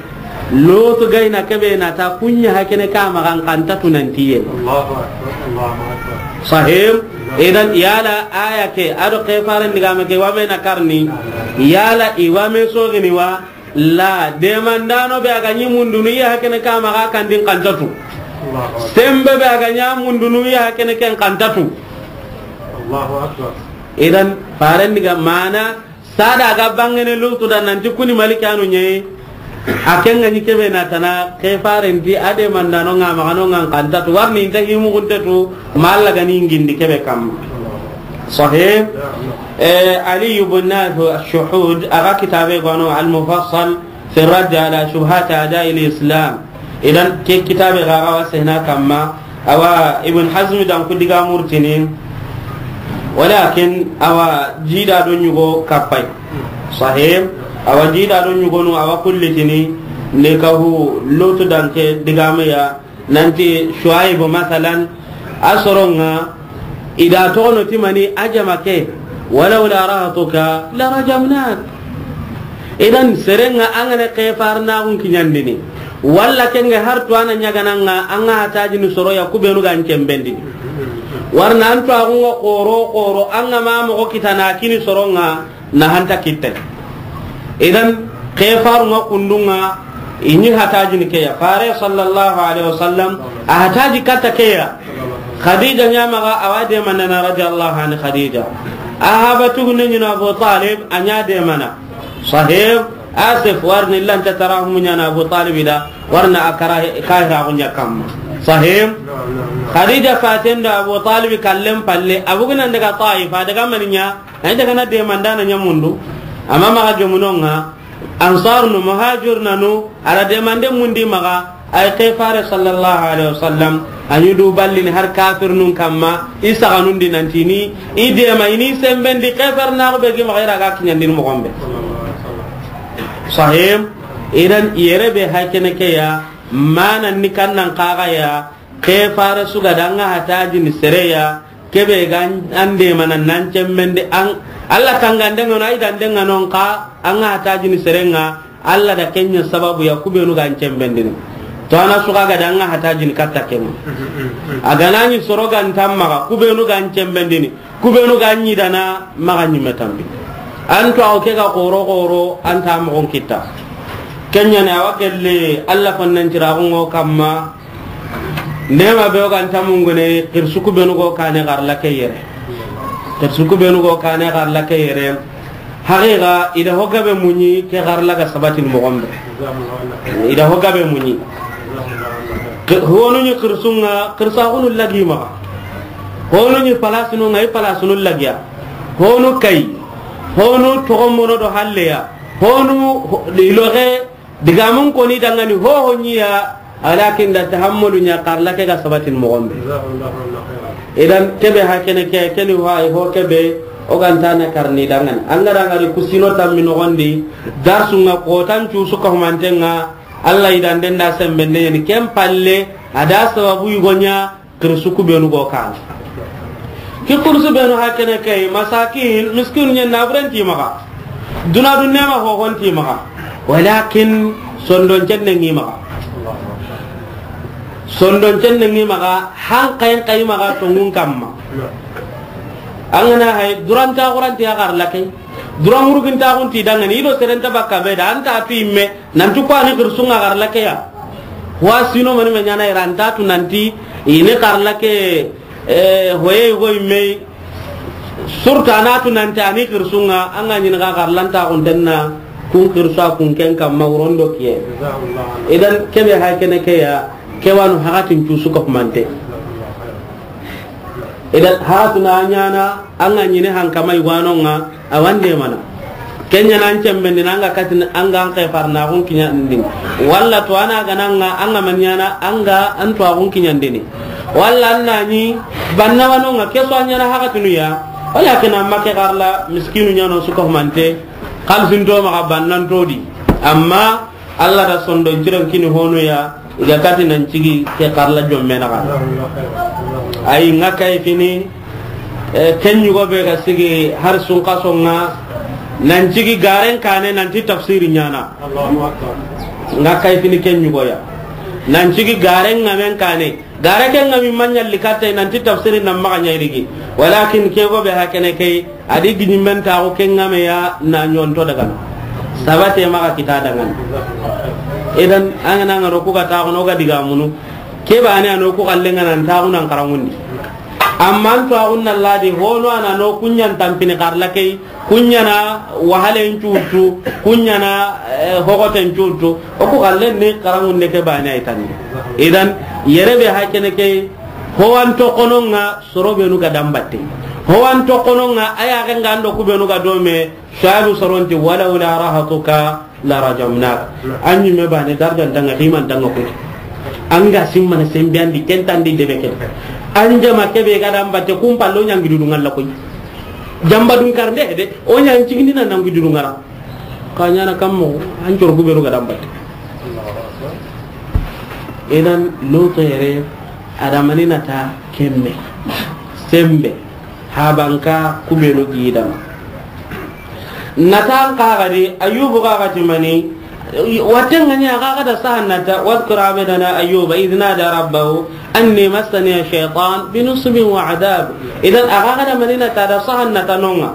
Lutu ga i na kebe na ta kuɲa hakene ka maxa n xa nta tunantiye. Allahu akbar, Allahu akbar. Sahih. Idan yala aya ke, a do ke faren digame ke wa me na karni, yala i wa me sogini wa, la demandano be a ga ɲi mundunu i ya hakene ka maxa kan di n xa nta tu. Sembe be a ga ɲa mundunu ya kene ken kantatu. Allahu Akbar. Idan, faren diga mana, sada ga bangene Lutu da nanti kuni malikanu ɲe. A ken ga ɲi kebe na tana, ke faren di a de mandano nga magano nga kantatu. Warni inta himu kuntetu, malla ga ni ngindi kebe kam. Sahih. Eh, Ali ibn Nafi Ash-Shuhud, a ga kitabe gono Al-Mufassal, في الرد على شبهات أعداء الإسلام. Idan ke kitabe ga ga wa sehna kamma, awa Ibn Hazm dan ku diga murtini, walakin awa jida do ɲugo kapai. Sahih, awa jida do ɲugo no awa kullitini, ne ka hu Lutu dan ke diga me ya, nanti Shuaib masalan, a soronga, ida tono timani a jama ke, ولولا رهطك لرجمناك. Idan serenga angane ke farnaxun kiɲandini, walla kenge har tuwana ɲagananga anga hatajini soroya kubenu gan cembendini. Warna an tuwaxunga xoro xoro anga ma moxo kitana kini soronga na hanta kitte. Idan, ke farunga kundunga, ini hatajini keya. Fare sallallahu alaihi wasallam, a hataji katta keya. Khadija ɲamaga, awa demandana radiyallahu anha Khadija. A haba tugunde ɲina Abu Talib, a ɲa demana. Sahib, Asif warni lanta tarahum ɲana Abu Talib da, warna a kara kahira gunya kamma. Sahib, Khadija faten da Abu Talib kallen palle, abugunan daga Taif, a daga maninya, Ay daga na demandana ɲamundu, amma maxa gemunonga, Ansar nu, Muhajir nanu, ala demande mundi maxa, ay ke fare sallallahu alaihi wasallam, a ɲi du ballini har kafir nun kamma, i saxanundi nantini, i dema ini sembendi, ke far naxu be gi maxa i ra ga kiɲandini moxon be. Sahim, idan yere be haykene ke ya, mana ni kannan kaga ya, ke fare suga danga hatajini sereya, Kebe ga an demana nan cemmendi an, Allah tangande ŋa no, ay dande ŋa no, nxa an ga hatajini serenga, Allah da kenya sababu ya kubenu ga an cembendini. To ana suka ga da an ga hatajini katta kenga. A ga na ɲi soro ga nta maxa, kubenu ga an cembendini, kubenu ga ɲi dana maxa ɲi metambi. An to aw ke ga xoro xoro, an ta moxon kitta. Kenya ne awa kelle Allah fannan ciraxu ŋo kamma. Nema be o ga nta mungune, xirsu kubenu go kane xarla ke yere. Xirsu kubenu go kane xarla ke yere. Haqiqa, i da ho gabe muɲi, ke xarla ga sabatin moxon be. I da ho gabe muɲi. Ke-, honu ɲi xirsunga, xirsaxunu lagi maxa. Honu ɲi palasinu ŋa, i palasinu lagiya. Honu kay. Honu toxo mono do halleya. Honu ho-, i loxe Digamun koni dangani hoho ɲiya, walakin da tahammalu ɲa xarla ke ga sabatin moxon be. Idan kebe hakene ke, keni ho ay ho kebe, o ga nta na karni dangani. An ga dangani kusino tammi noxondi, darsu ŋa kotan cusu ka humanten ŋa, Allah i danden da sembende ɲeni ken palle, a da sababu yugo ɲa, Xirsu kubenu go kane. Ki xirsu benu hakene kay, masakin, miskinu ɲen na buren ti maxa. Duna dunne ma hohon ti maxa. Walakin sondon cenne ngi maxa. Sondon cenne ngi maxa, han kayen kay maxa tongun kamma. An ga na hay, duranta xuranti ya xarla kay. Duran muruginta xunti dangani, i do serenta bakka be da, anta tu imme, nanti ko ani xirsunga xarla ke ya. Wa sino mani me ɲana iranta tu nanti, ini xarla ke, eh, hoye go imme, surta na tu nanti ani xirsunga, an ga ɲini ga xarlanta xuntenna, kun xirsa kun ken kamma wurondo kiye. Idan kebe hakene ke ya, ke wanu hakatin cusu ko mante. Idan, hatuna ɲana, an ga ɲini hankama i wanonga, a wande mana. Kenya nan cembendi na an ga katin, an ga an ke farna gun kiɲandini. Walla to ana gananga, an ga man ɲana, an ga an to agun kiɲandini. Walla an na ni banna wanonga, keso an ɲana hakatunu ya. Walakin amma ke xarla, miskinu ɲano suka humante, xalsin to maxa bannan to di. Amma Allah da sondon ciren kini honu ya, i ga kati nan cigi ke xarla jomme na xa. Ay, nga kay fini, eh, ken yugo be ga sigi har sun kaso nga, nan cigi garen kane nanti tafsiri ɲana. Nga kay fini ken yugo ya. Nan cigi garen ngamen kane. Gare ke nga mi maɲalli katta nanti tafsiri nan maxa ɲa i rigi. Walakin ke go be hakene kay, a di giɲimben taxu ke nga me ya na ɲonto daga. Sabate maxa kita daga. Idan, an ga na nga ro ku ga taxu no ga diga munu. Ke baane a no ku xalle ŋa nan taaxu nan xaranŋundi. Amma an taaxu na ladi hono a na no ku ɲan tampini xarla key, ku ɲana wahalen cuutu, ku ɲana, eh, hogoten cuutu. O ku xalle ni xaranŋunde ke baane ay tanni. Idan, yere be ha kene ke, ho an toxono ŋa soro benu ga dambatte. Ho an toxono ŋa a ya ga ŋa an do ku benu ga dome, Shuaibu soron ti, "Walawla rahatuka la rajamnak." An ɲimme baane darjan tanga, ximan tanga ko. An ga simmana sembe andi, kentandi debe ke. An jama kebe ga dambatte, kun pallo ɲangi dudu ŋalla koy. Jamba dun karnde de, o ɲan cigini na nangi dudu ŋara. Ka ɲana kammo, an coro ku benu ga dambatte. Idan, Lutu yere, adamani na ta kemme. Sembe. Habanka ku benu gidama. Natan kaga di, Ayubu kaga ti mani, waten ŋa ɲa kaga da sahan nata, wadhkur abdana Ayuba idh nada rabbahu anni massani ash-shaytan binusbin wa adhab. Idan a kaga da mani nata da sahan nata no ŋa.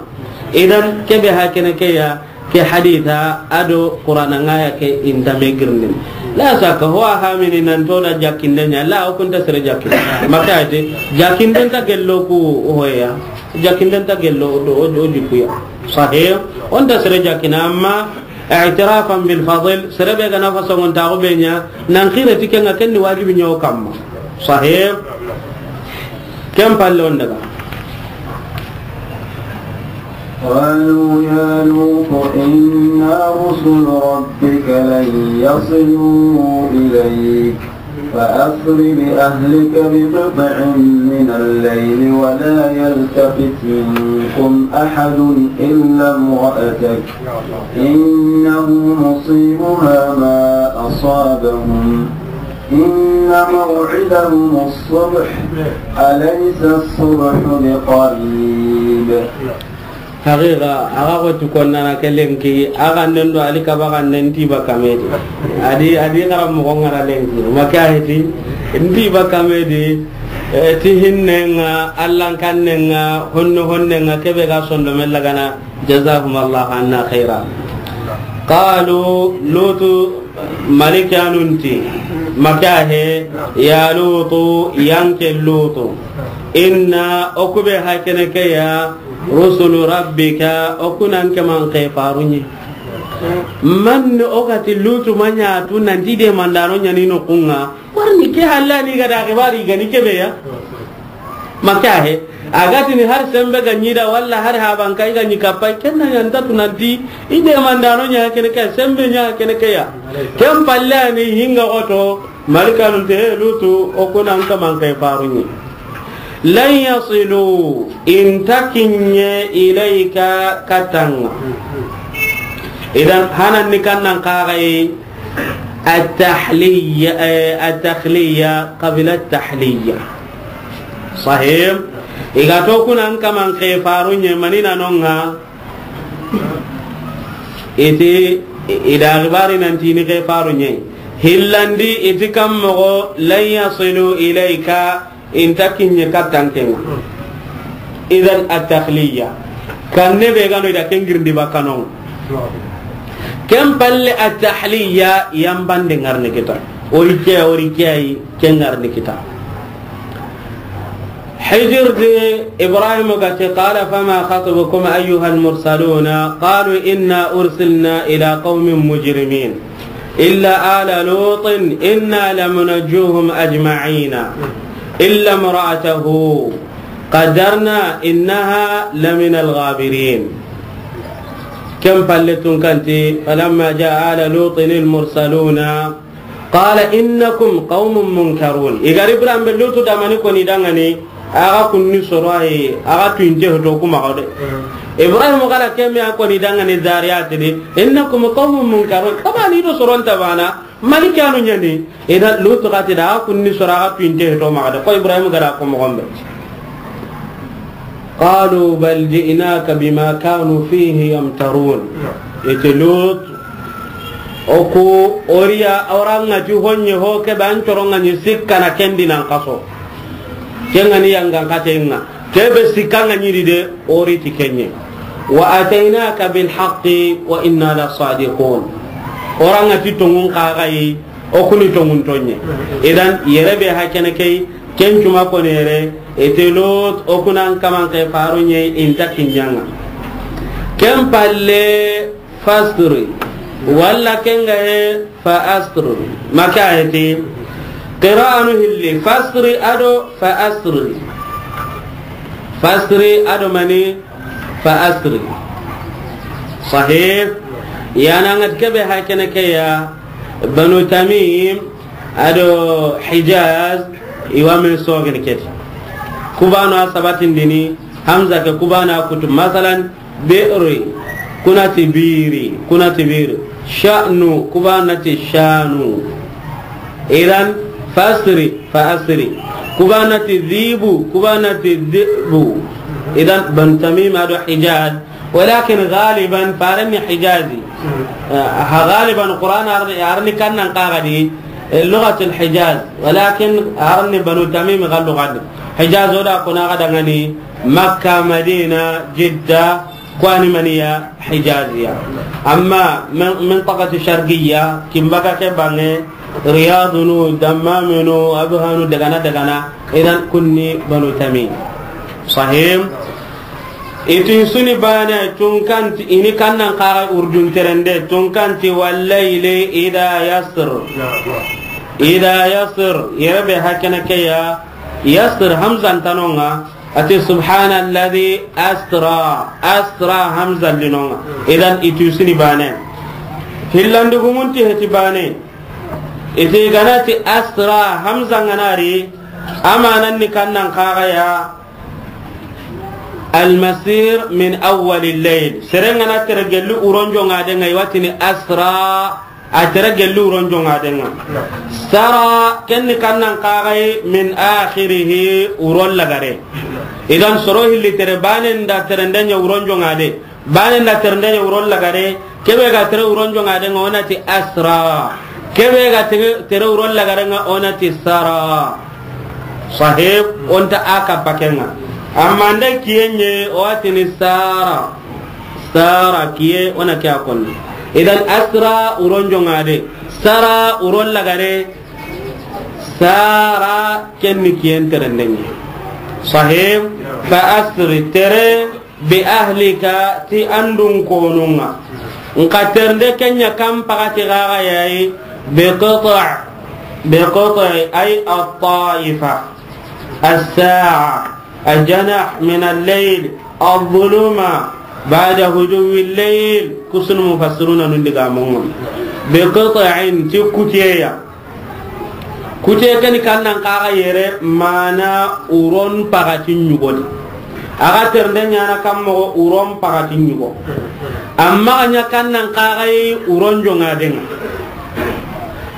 Idan kebe ha kene ke ya, ke haditha a do Qur'ana ŋa ya ke inta me girnin. La saka ho a hamini nan to da jakinde ɲa, la o kunta sere jakinde. Makate, jakinde nta gello ku hoya. Jakinde nta gello o do, o do, o di ku ya. Sahih, o nta sere jakina, amma i'tirafan bil fadl, sere be ga na faso ngon ta go be ɲa, nan xire ti ke ŋa ken ni wajibi ɲa o kamma. Sahih. Ken palle o n daga. قالوا يا لوط إنا رسل ربك لن يصلوا إليك فأسر بأهلك بقطع من الليل ولا يلتفت منكم أحد إلا امرأتك إنه مصيبها ما أصابهم إن موعدهم الصبح أليس الصبح بقريب. Haqiqa, a ga xoti konnana ke lenki, a ga nden do ali kaba ga nden ti ba kamedi. Adi, adi xaranmoxo ŋa ra lenki. Maka heti, nti ba kamedi, eh, ti hinnenga, allankanenga, honno honnenga, kebe ga sondo mella gana, jazahumallahu anna khaira. Qalu, Lutu, Malikanun ti, maka he, ya Lutu, yanke Lutu. Inna, o kube hakene ke ya, rusulu rabbika, o kunan ke man ke farunye. Man o gati Lutu manya tu nanti de mandano nyani no kunga. Warni ke halla ni gada ke bari gani kebe ya. Maka he, a ga tini har sembe ga ɲi da, walla har haban kai ga ɲi kappai, ken na ɲa nta tu nanti, i de mandano ɲa kene ke, sembe ɲa kene ke ya. Ken palle ni hinga oto, Malikanun te, he Lutu, o kuna nta man kai farunye. Lan yasilu, inta kinye ilayka katanga. Idan, hanan ni kannan kagai, at-tahliya, eh, at-takhliya, qabla at-tahliya. Sahih. Iga to kuna an kaman ke faru nye manina nonga. Iti, ida gibari nanti ni ke faru nye. Hillandi iti kam mogo lan yasilu ilayka inta kinye kattankenga. Idan at-takhliya. Kanne be gano ida kengirndi bakano. Ken palle at-tahliya yambande ngarni kita. Ori ke, ori ke ay, ke ngarni kita. Hijir de Ibrahim gati, qala fama khatubukum ayyuhal mursaluna, qalu inna ursilna ila qaumin mujrimin, illa ala lutin inna lamunajjuhum ajma'ina, illa imra'atahu qaddarna innaha laminal ghabirin. Ken palle tun kanti, falamma jaa ala lutin al mursaluna, qala innakum qaumun munkarun. Igari Ibrahim be Lutu damani koni dangani, aga kunni soro ayi, aga tuinte hoto kuma gode. Ibrahim kala kemi a koni dangani Zariyat di, innakum qaumun munkarun. Tabani do soron tabana, malikanu nyani. Ida Lutu gati da, aga kunni soro aga tuinte hoto magade. Ko Ibrahim gara ko mogombe. Qalu bal ji'naka bima kanu fihi yamtarun. Iti Lut, oku oriya oranga ti honye ho kebe an coronga ni sikkana kendi nan kaso. Kengani yangan katenga. Kebe sikkanga ni di de ori ti kenye. Wa ataynaka bil haqqi wa inna la sadiqun. Oranga ti tongun kagayi. O kuni tonŋun tonŋe. Idan, yere be hakene key, ken cuma koni yere, ete Lot, o kunan kaman ke faru ɲe, inta kiɲanga. Ken palle, fasri. Walla ken ga he, fa asri. Maka heti, qira'anu hilli, fasri ado fa asri. Fasri ado mani, fa asri. Sahih. Yana ngat kebe hakene ke ya, Banu Tamim, ado Hijaz, iwa men sogen keti. Kubano a sabatindini, Hamza ke kubano a kutu. Masalan, bi'ri, kunati biri, kunati biri. Sha'nu, kubanati shanu. Idan, fasri, fa asri. Kubanati dhibu, kubanati dhibu. Idan, Banu Tamim ado Hijaz, walakin galiban farenni Hijazi. Ah, ha galiban Qur'an arni, arni kannan kagadi, eh, lughatul Hijaz. Walakin arni Banu Tamim ga lugadi. Hijaz oda kuna ga dangani Makka, Madina, Jidda, kwani maniya Hijaziya. Amma min, mintaqati sharqiyya, kimbaka ke bange, Riyadunu, Dammaminu, Abhanu, dagana, dagana, idan kunni Banu Tamim. Sahih. Itin suni bane, tunkanti, ini kannan kaga urdun terende, tunkanti, wallayli idha yasr. Idha yasr, yere be hakene ke ya, yasr hamzan tanonga, ati subhanalladhi asra, asra hamzan linonga. Idan itu suni bane. Hillandu gumunti heti bane. Iti ganati asra hamzan ganari, amanan ni kannan kaga ya, Almasir min awwalil layl. Sere ngana tere gelli uron jonga de nga, iwatini asra, a tere gelli uron jonga de nga. Sara, kenni kannan kagai min akhirihi, uron lagare. Idan soro hilli tere bane nda tere ndenya uron jonga de. Bane nda tere ndenya uron lagare. Kebe ga tere uron jonga de nga, onati asra. Kebe ga tere, tere uron lagare nga, onati sara. Sahib, onta aka pakenga. Amma nda kiyenye, o atini sara. Sara kiye, ona kiya konni. Idan asra uron jonga de. Sara uron lagare. Sara kenni kiyen tere ndenye. Sahib, fa asri tere bi ahlika, ti andun konunga. Nka ternde kenya kam pagati gaga yayi, bi qita', bi qita', ay at-ta'ifa, as-sa'a, al-janah min al-layl, al-dhuluma, ba'da huduwi al-layl, kusun mufassiruna nundi ga mongon. Bi qita'in, ti kutiyeya. Kute keni kannan kaga yere mana uron pagati ɲugoni. Aga ternde ɲana kammogo uron pagati ɲugo. Amma a ɲa kannan kaga yi uron jonga denga.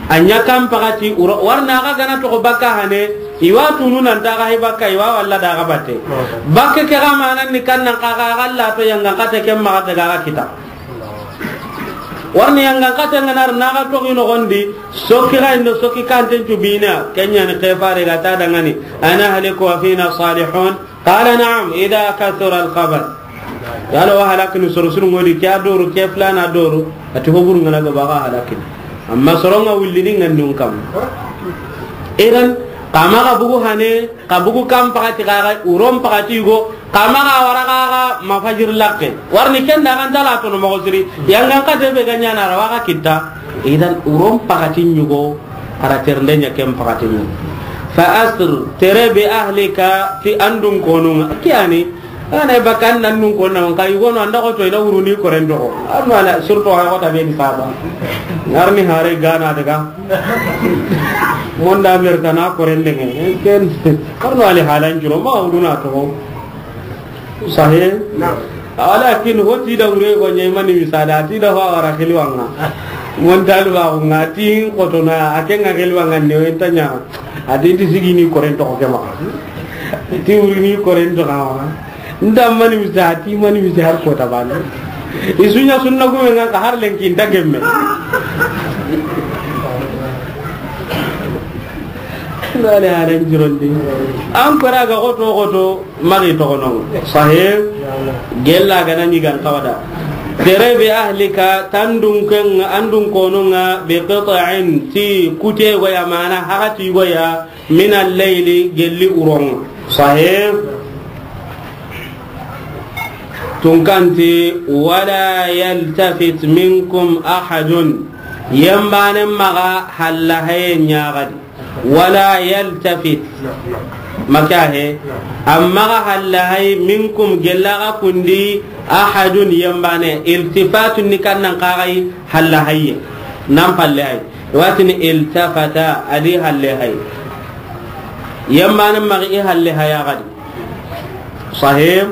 A ɲa kan pagati uro, warna aga gana togo bakka hane, iwa tunu nan taga hay bakka, iwa walla daga batte. Bakke ke ga manan ni kannan kaga, aga la to yanga kate kem maga daga kita. Warni yangan kate nganar naga togi nogondi, sokki ga indo sokki kanten cu bina, kenya ni kefare ga ta dangani, ana haliku wa fina salihun, qala na'am, idha kathura al-khabath. Yalo wa halakini soro sunu ngodi, ke a doru, ke flana doru, ati hoburu ngana ga baga halakini. Amma soronga willini ngandun kam. Idan, kama ga bugu hane, Ka bugu kan pagati kaga, uron pagati yugo, kama ga wara kaga ma fajir lakke. Warni kenda kan tala tono mogo siri. Yangan kate be ganya na rawa ga kita. Idan uron pagati ɲugo, ara ternde ɲa ken pagati ɲugo. Fa asr, tere bi ahlika, ti andun konunga. Kiyani, ana bakan nan nun konna, ka yugo no anda ko to ina uruni korendo. Amma la, surtout ha ko tabe ni saba. Ngarni hare gana daga. Monda merta na korende nge. Ken, karno ali halan juro ma uduna to. Sahih? Naam. Walakin hoti da ure go nyai mani misala, ti da fa wara khilwanga. Monda lu ba nga ti kotona, akenga khilwanga ne wentanya. Ati ti sigini korento ko kema. Ti urini korento ka. Nda mani misa, ti mani misa har kota bani. Isunya sunna gume nga ka har lenki nda gemme. Nda le haren jirondi. An kora ga goto goto magi togono. Sahih. Gella gana ni gan kawada. Tere bi ahlika, tandun ken, andun konunga, bi qit'in, ti kute goya, mana hagati goya, min al-layli, gelli uron. Sahih. Tunkanti, wala yaltafit minkum ahadun. Yembane maga halla haye ɲagadi. Wala yaltafit. Maka he. Amma ga halla hay minkum gella ga kundi ahadun yembane. Iltifatun ni kannan kagai halla hayye. Nan palle hay. Watini iltafata adi halle hay. Yembane magi i halle haya gadi. Sahih.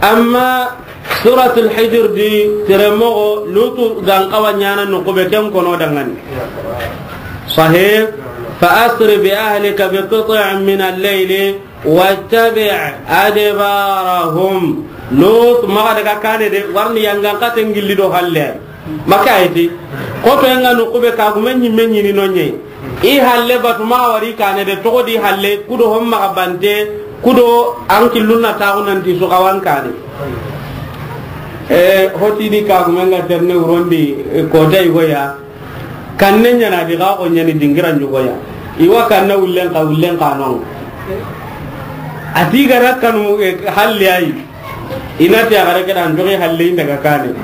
Amma Suratul Hijr di teremogo Lutu gan kawa ɲana no ko be ken kono dangani. Sahih. Fa asri bi ahlika bi qit'in min al-layli wattabi' adbarahum. Lut maga daga kane de warni yangan katen gilli do halle. Maka ayeti. Koto yanga no ko be kagume ɲimme ɲini no ɲe. I halle batu maxa wari kane de toxo di halle kudo hon maxa bante kudo an killun na taxu nanti su xawan kane. E, hoti di kagume nga terne wurondi, e, kota igoya. Kanne ɲana di ga ko ɲani dingira ɲugoya. Iwa kanna wullen ka wullen ka non. Ati gara kanu, e, halle ayi. Ina ti a gare ke dan joxe halle inda ga kane.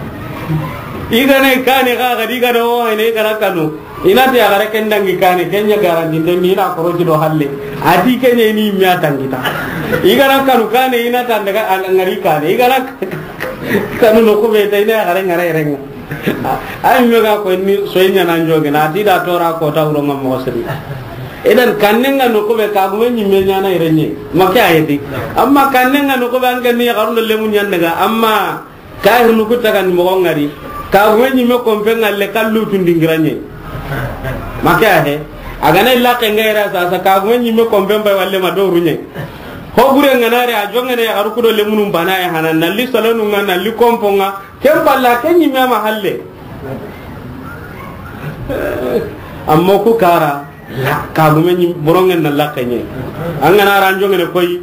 I gana i kane ga ga di gana o hayne i gara kanu. Ina ti a gare ken dangi kane, ken ɲa garanti nde mi na koroji do halle. Ati ken ɲa ni mi a tangita. I gara kanu kane, ina tan daga an ngari kane. I gara kanu no ko be ta ina gare ngare renga. Ay mi ga ko ni so ɲa nan joge na ti da tora ko ta wuro ngam mo sri. Idan kannenga no ko be ka gume ɲimme ɲana irenye. Make ayeti. Amma kannenga no ko be an ganni ya garundo lemu ɲan daga. Amma kahir nu kutta kan mo ngari. Ka gume ɲimme kompe ngalle kallu tundingiranye. Make ahe. Agana illa ke ngaira sa sa ka gume ɲimme kompe mbay walle ma doru nye. Ho gure nganare a jongene ya garu kudo lemunum bana ya hanan nalli salonu nga nalli kompo nga. Ken balla ken ɲimme ma halle. Amma ku kara, la, kagume ɲim-, borongen na lakke ɲe. An gana ra njongene koy,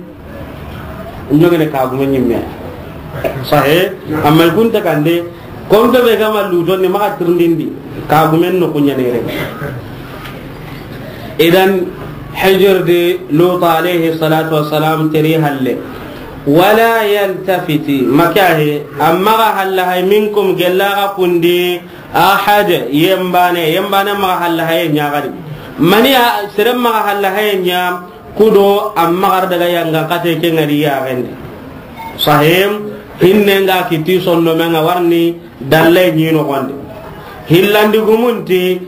njongene kagume ɲimme. Sahe, amma i kunta kande, konto be gama luto ni maxa tirindindi, kagumen no kuɲanere. Idan, Hijr di Lut alayhi salatu wassalam teri halle. Wala yaltafiti, makahe, amma ga halla hay minkum gella ga kundi, ahad, yembane, yembane maxa halla haye ɲagadi. Mani a, sere maxa halla haye ɲa, kudo amma gar daga yanga kate ke ngari ya gende. Sahim, hinne nga kiti sonno menga warni, dalle ɲi no gonde. Hillandi gumunti,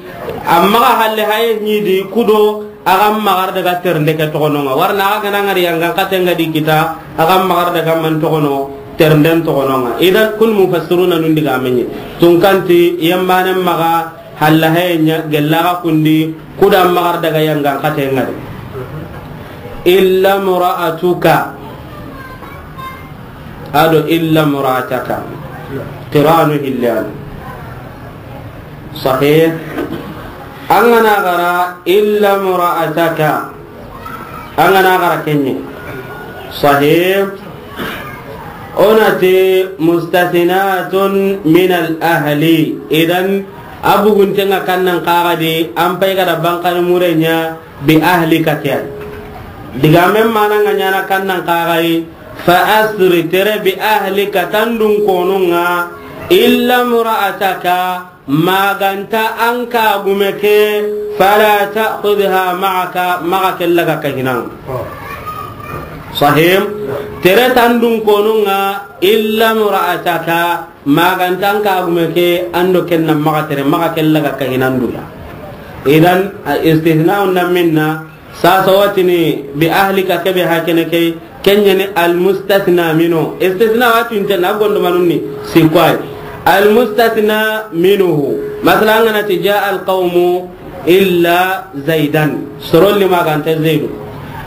amma ga halle haye ɲi di kudo, aga magar daga ternde ke togononga. Warna aga gana ngari yanga kate nga di kita, aga magar daga man togono, ternden togononga. Idan kun mufassiruna nundi ga menye. Tunkanti, yembane maga, halla haye ɲa, gella ga kundi, kuda magar daga yanga kate nga di. Illa mra'atuka. Ado illa mra'ataka. Qiranu hillan. Sahih. An gana gara illa mra'ataka. An gana gara kenye. Sahih. Onati mustathinatun min al ahli. Idan abuguntenga kannan kaga di an pay gada bankani murenya bi ahlika kiyan. Digamen mana nga ɲana kannan kagai, fa asri tere bi ahlika tandun konunga, illa mra'ataka maganta an kagume ke, fala ta'khudha ma'aka maga kellaga kahinan. Sahim, tere tandun konunga, illa mra'ataka Magantan kagume ke ando kenna maga tere maga kella ga kahinanduya. Idan, a istithna na minna, sasa watini bi ahlika kebe hakene ke, kenyani al mustathna minu. Istithna watu intena gondo manunni, sikwai. Al mustathna minuhu. Masala ngana ti jaa al qawmu, illa Zaidan. Sorolli magante Zaidu.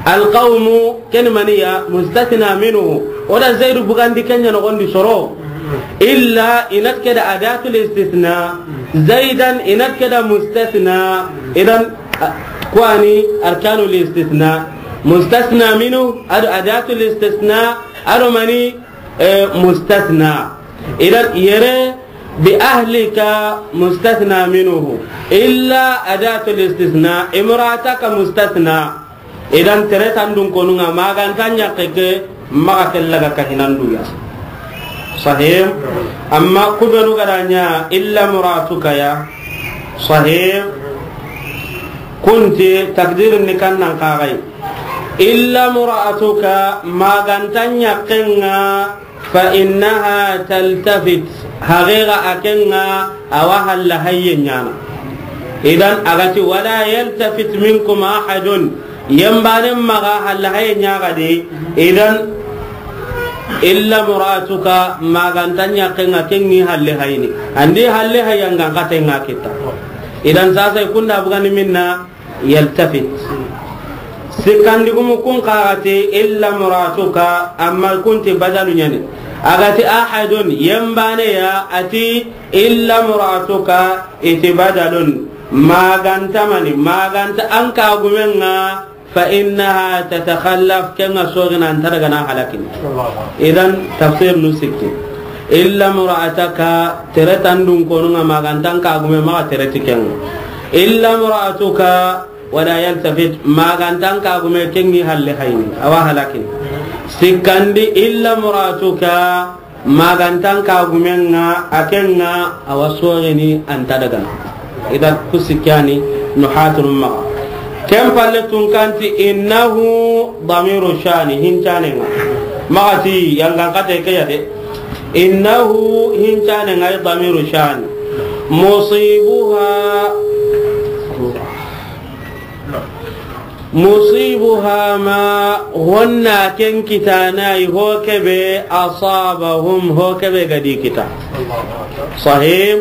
Al qawmu, ken maniya, mustathna minhu. Oda Zaidu bugandi kenya no gondi soro. Illa inat keda adatul istithna. Zaidan inat keda mustathna. Idan, a, kwani arkanul istithna. Mustathna minhu, ado adatul istithna, ado mani, eh, mustathna. Idan, yere, بأهلك مستثنى منه، إلا أداة الاستثناء، امرأتك مستثنى. Idan, tere tandun konun ŋa, ma ga nta ɲaxe ke, maxa ke laga kahinandu ya. Sahih. Amma ku benu ga da ɲa إلا امرأتك ya. Sahih. Kunti takdirin ni kan nan kaxay. إلا امرأتك, ma ga nta ɲaxe ŋa, فإنها تلتفت, haqiqa a ke ŋa, a wa halla hayye ɲaana. Idan, a ga ti, ولا يلتفت منكم أحد, yembane maxa halla hayye ɲaxa de. Idan, إلا امرأتك, ma ga nta ɲaxe ŋa, ke ŋi halle hayni. An di halle hayya ŋa n xate ŋa kita. Idan, sasa i kunda bugani minna, يلتفت. Sikkandigumu kun xa ga ti إلا امرأتك, amma kunti badalu ɲa ni. A ga ti أحد, yembane ya, a ti إلا امرأتك, i ti badalun. Ma ga nta mani, ma ga nta an kagumen ŋa, فإنها تتخلف, ke ŋa soxina an ta daga na halakini. Idan, tafsir nu sikki. إلا امرأتك, tere tandun konun ŋa, ma ga nta an kagume, maxa tere ti ke ŋa. إلا امرأتك, ولا يلتفت, ma ga nta an kagume, ke ŋi halle hayni, a wa halakini. Sikkandi, إلا امرأتك, ma ga nta an kagumen ŋa, a ke ŋa, a wa soxini an ta daga na. Idan, ku sikkani nuhatun maxa. Ken palle tun kanti إنه ضمير شأن, hincane ŋa. Maxa ti yangan xate ke ya de. إنه hincane ŋa, ضمير شأن. مصيبها مصيبها ما, honna ken kitana i ho kebe, أصابهم, ho kebe ga di kita. Sahih.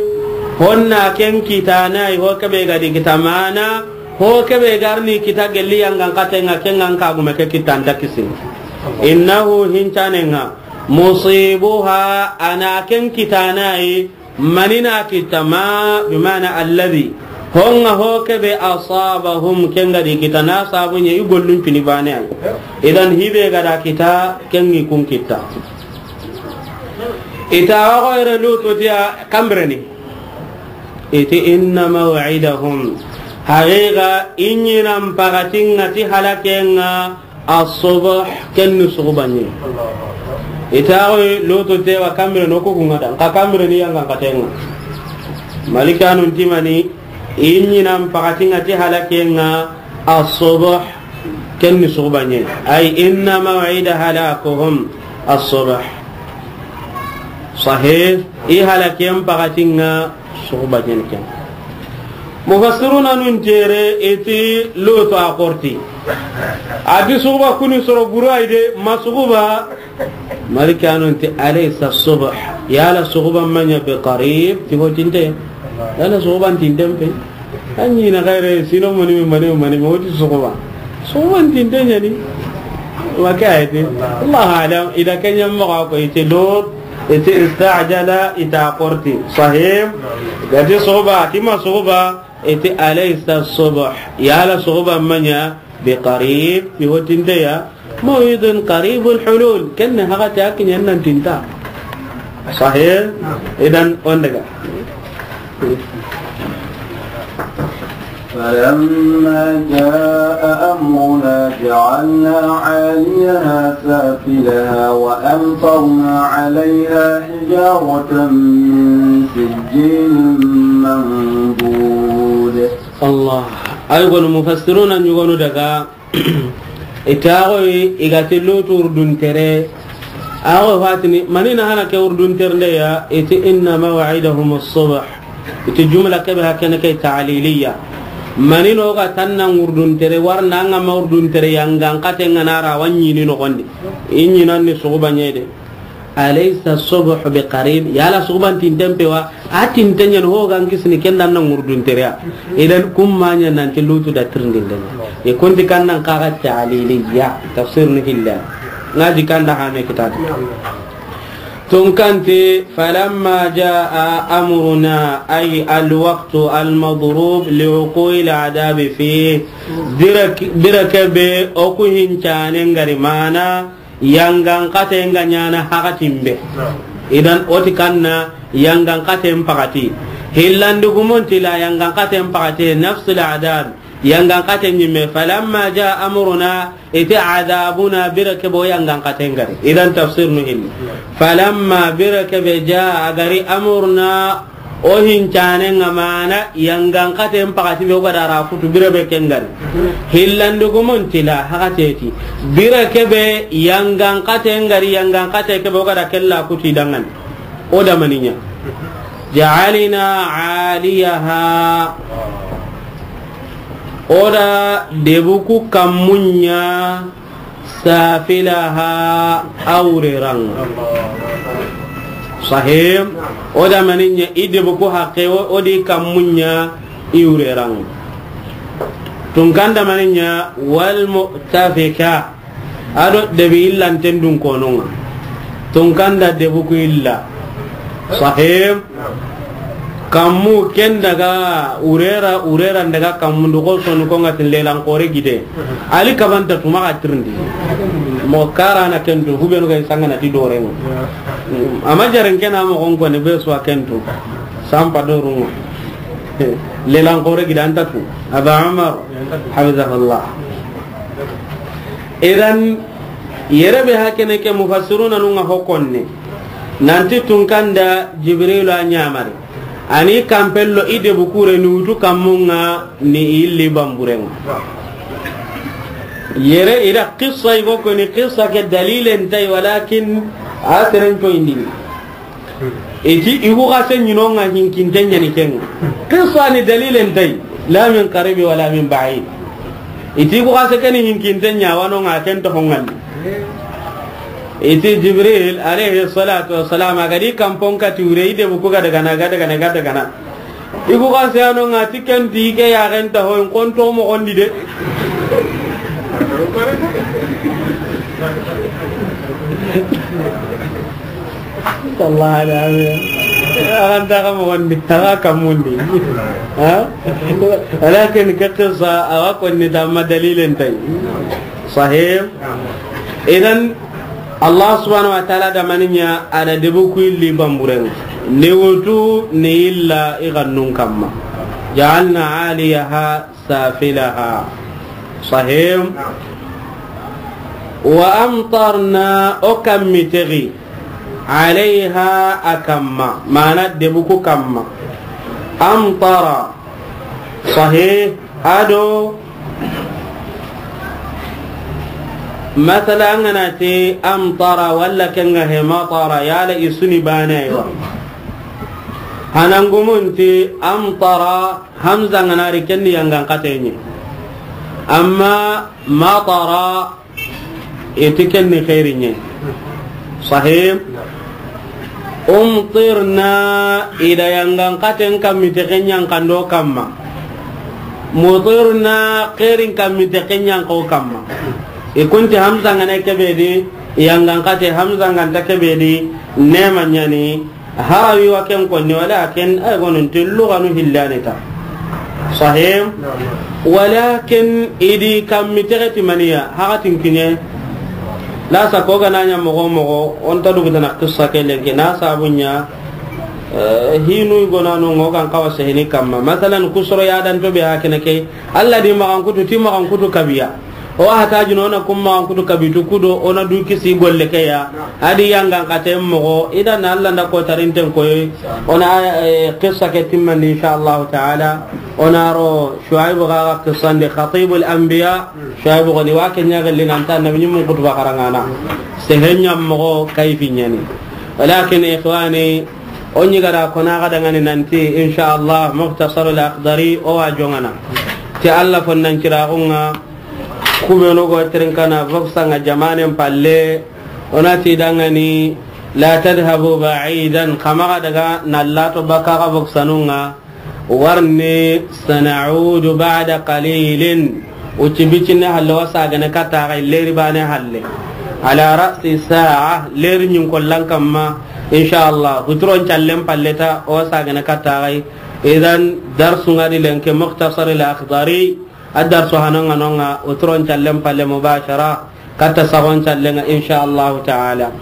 Honna ken kitana i ho kebe ga di kita, mana ho kebe ga ri ni kita gelli yangan xate ŋa, ke ŋa an kagume ke kita an ta kisini. إنه hincane ŋa, مصيبها, a na ken kitana i, mani na kita, ما بمعنى الذي, ho ŋa ho kebe, أصابهم, ke ŋa di kita, na sabu ɲa i gollun pini bane ay. Idan, hibe ga da kita, ke ŋi kun kita. I ta wa ko ere Lutu ti a kambireni. I ti إن موعدهم, haqiqa i ɲinan pakatin ŋa ti halaken ŋa, الصبح, ken ni suxuba ɲi. I ta wa ko Lutu ti a wa kambireni, o ku kun ŋa da, xa kambireni yangan xate ŋa. Malikanun ti mani, i ɲinan pakatin ŋa ti halaken ŋa, الصبح, ken ni suxuba ɲi. أي إن موعد هلاكهم الصبح. Sahih, i halaken pakatin ŋa suxuba ɲi ken. Mufassiruna nun tere i ti Lutu a xorti. A ti suxuba ku ni soro buru ay de, ma suxuba. Malikanun ti أليس الصبح, yala suxuba ma ɲa بقريب, ti ho tinte. Yala suxuba tinten pe. An ɲi na xayre sino mani me, mani me, mani me, o ti suxuba. Suxuba tinte ɲa ni. Wa ke ayati. Allahu a'lam. I da ke ɲa maxa ko i ti Lut, i ti استعجل, i ta xorti. Sahih. Ga ti suxuba, ti ma suxuba, i ti أليس الصبح, yala suxuba ma ɲa بقريب, ti ho tinte ya. موعد قريب الحلول. Ken ni hakati a kiɲen nan tinta. Sahih. Idan, on daga. فلما جاء أمرنا جعلنا عاليها سافلها وأمطرنا عليها حجارة من سجيل منضود. Allah. Ay gonu mufassiruna ɲugonu daga. I ta wa ko i ga ti Lutu urdun tere. A wa ko fatini, mani na hana ke urdun tere nde ya, i ti إن موعدهم الصبح. I ti jumla kebe hakene ke ta'liliya. Mani no ga tanna urdun tere, warna ŋa ma urdun tere yangan xate ŋa na ra wa ɲi ni noxondi. I ɲinan ni suxuba ɲi de. أليس الصبح بقريب, yala suxuban tinten pe wa, a tinten ɲa ni ho ga n kisini ken da na ŋurdun tere ya. Idan kun ma ɲa nan ti Lutu da tirindin den. I kun ti kan nan kaga ta'liliya, tafsir ni hilla. Ŋa di kan da hame kitadi. Tun kanti, فلما جاء أمرنا, أي الوقت المضروب لوقوع العذاب فيه. Bire ke be o ku hincane ŋa ri mana, yangan xate ŋa ɲaana hakatin be. Idan o ti kanna yangan xaten pakati. Hillandi gumun ti la yangan xaten pakati, nafsul adab, yangan xaten ɲimme. Falamma jaa amruna, iti adabuna, bire kebe o yangan xaten gari. Idan tafsir nu hilli. Falamma, bire kebe, jaa, a gari, amruna, o hincanen ŋa, mana yangan xaten pakati be o ga da ra kutu bire be ken gari. Hillandi gumun ti la hakateti. Bire kebe yangan xaten gari, yangan xate kebe o ga da kella kutu i danŋa ni. O da mani ɲa? Ja'alna aliyaha. O da debu ku kammun ɲa safilaha, a wureran ŋa. Sahih. O da mani ɲa? I debu ku haqqe, o, o di kammun ɲa i wureran ŋa. Tunkan da mani ɲa? Wal mu'tafika. A do debi illanten dun konon ŋa. Tunkan da debu ku illa. Sahih. Kammu ken daga wurera, wurera daga kammu ndu ko sonu ko ŋa tin lelan xore gide. Ali kabanta tuma ga tirindi. Mo karana ken tu, hubenu ga sanga na ti doren ŋa. Ama jaren ken a moxon ko ne be suwa ken tu. Sampa dorun ŋa. Lelan xore gide anta tu. Aba Umar, hafizahullah. Idan, yere be hakene ke mufassiruna nun ŋa ho konne. Nanti tunkan da Jibrilu a ɲamari. Ani kampello i debu kure ni wutu kammun ŋa ni illi bamburen ŋa. Yere i da qissa i go ko ni qissa ke dalilen tay, walakin a seren to indini. Iti i ku xase ɲi no ŋa hinkinte ɲa ni ken ŋa. Qissa ni dalilen tay, la min qaribi wala min ba'id. Iti i ku xase ken hinkinte ɲa wa no ŋa ken to honŋandi. Iti Jibril alayhi salatu wassalam a ga di kampon kati wure, i debu ku ga daga na, ga daga na, ga daga na. I ku ga seyano ŋa ti ken ti ke yaxen ta hoy konto moxon di de. Allah alami. Axa nta xa moxon di, axa kammun di. Ha? Walakin ke qissa, axa konni tamma dalilen tay. Sahih. Idan, Allah subhanahu wa ta'ala da mani ɲa? A da debu ku illi bamburen ŋa. Ni wutu, ni illa i gannun kamma. Ja'alna aliyaha safilaha. Sahih. Wa amtarna, o kammi tegi, alayha, a kamma, mana debu ku kamma. Amtara. Sahih. A do, masala, an ga na ti amtara walla ken ŋa he matara, yala i su ni bane wa. Hanan gumun ti amtara, hamza ga na ri ken ni yangan xate ɲi. Amma matara, iti ken ni xeeri ɲe. Sahih. Umtirna, i da yangan xaten kammi tege ɲa n kando kamma. Mutirna, xeerin kammi tege ɲa n ko kamma. I kunti hamza ga na kebe di, yangan xate hamza ga nta kebe di, nema ɲa ni. Harawi wa ken konni, walakin ay gonun ti luganu hillani ta. Sahih. Walakin i di kammi tege ti maniya, hakatin kiɲe. La sa ko ga na ɲa moxo moxo, o nta dugu tana qissa ke lenki, na sabu ɲa, eh, hinu i gonanu ŋo kan xawa sehini kamma. Masalan, kusoro ya dan to be hakene ke, Allah di maxan kutu, ti maxan kutu kabiya. O wa hata jino, o na kun maxan kutu kabitu kudo, o na du kisi golle ke ya. A di yangan xaten moxo, i da na Allah nda ko tarinten koyi. O na, eh, qissa ke timmandi, insha Allah ta'ala. O na ro Shuaibu ga qissa ndi Khatibul Anbiya. Shuaibu ga ni wa ke ɲa galli nan ta nabi ɲimmun kutuba xarangana. Sehen ɲa moxo kayfi ɲa ni. Walakin ikhwani, o ɲi ga da ko na ga dangani nanti, insha Allah, Mukhtasar al-Akhdari, o wa jongana. Ti Allah fonnan ciraxun ŋa, Kubenu go tirinkana voksa ŋa jamanen palle, o na ti dangani, la tadhhabu ba'idan, xa maxa daga na lato baka xa voksanun ŋa, warni, sana'udu ba'da qalilin, uci bicinne halle, wa sagane katta xa leri bane halle, ala ra'si sa'a, leri ɲin kollan kamma, insha Allah, huturon callen palle ta, o sagane katta xa. Idan, darsu ŋa di lenki Mukhtasar al-Akhdari, A darsu hanonga nonga, uturon callen palle mubashara, katta sagon callen ŋa, insha Allahu ta'ala.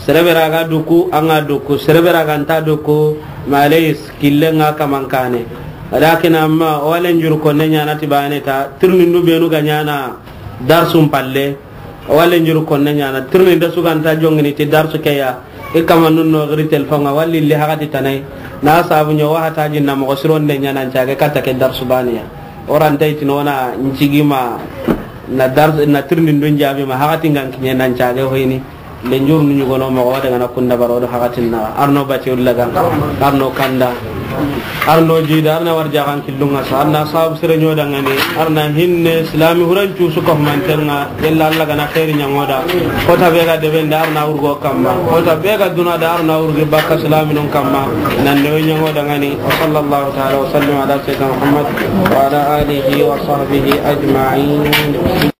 Sere be ra ga duku, an ga duku. Sere be ra ga nta duku, malayis, killen ŋa kaman kane. Walakin amma, o wa lenjuru konne ɲaana ti baane ta, tirindindu beenu ga ɲaana darsun palle, o wa lenjuru konne ɲaana, tirindinde su ga nta joŋini ti darsu ke ya, i kamanun no giri telefon ŋa, walla i li hakati tana yi, na sabu ɲa wa hataji na moxo sironde ɲa nan cage katta ke darsu baane ya. O ra nta i tini o na ncigi ma na dars-, na tirindindun jaabi ma hakati ŋa n kiɲe nan cage hoyini. Lenjuru nu ɲugono moxo wa daga na kunda baro do hakatin na arno bati ullaga, arno kanda, arno jida, arna warjaxan killun ŋa sa, arna sabu sere ɲo dangani, arna hinne silami huran cusu ko mantenga, yalla Allah ga na xeeri ɲaŋo da. Kota be ga debe nda arna wurgo kamma, kota be ga duna da arna wurgi bakka silaminun kamma, nan de ɲaŋo dangani. Wa sallallahu ta'ala wa sallim ala sayyidina Muhammad wa ala alihi wa sahbihi ajma'in.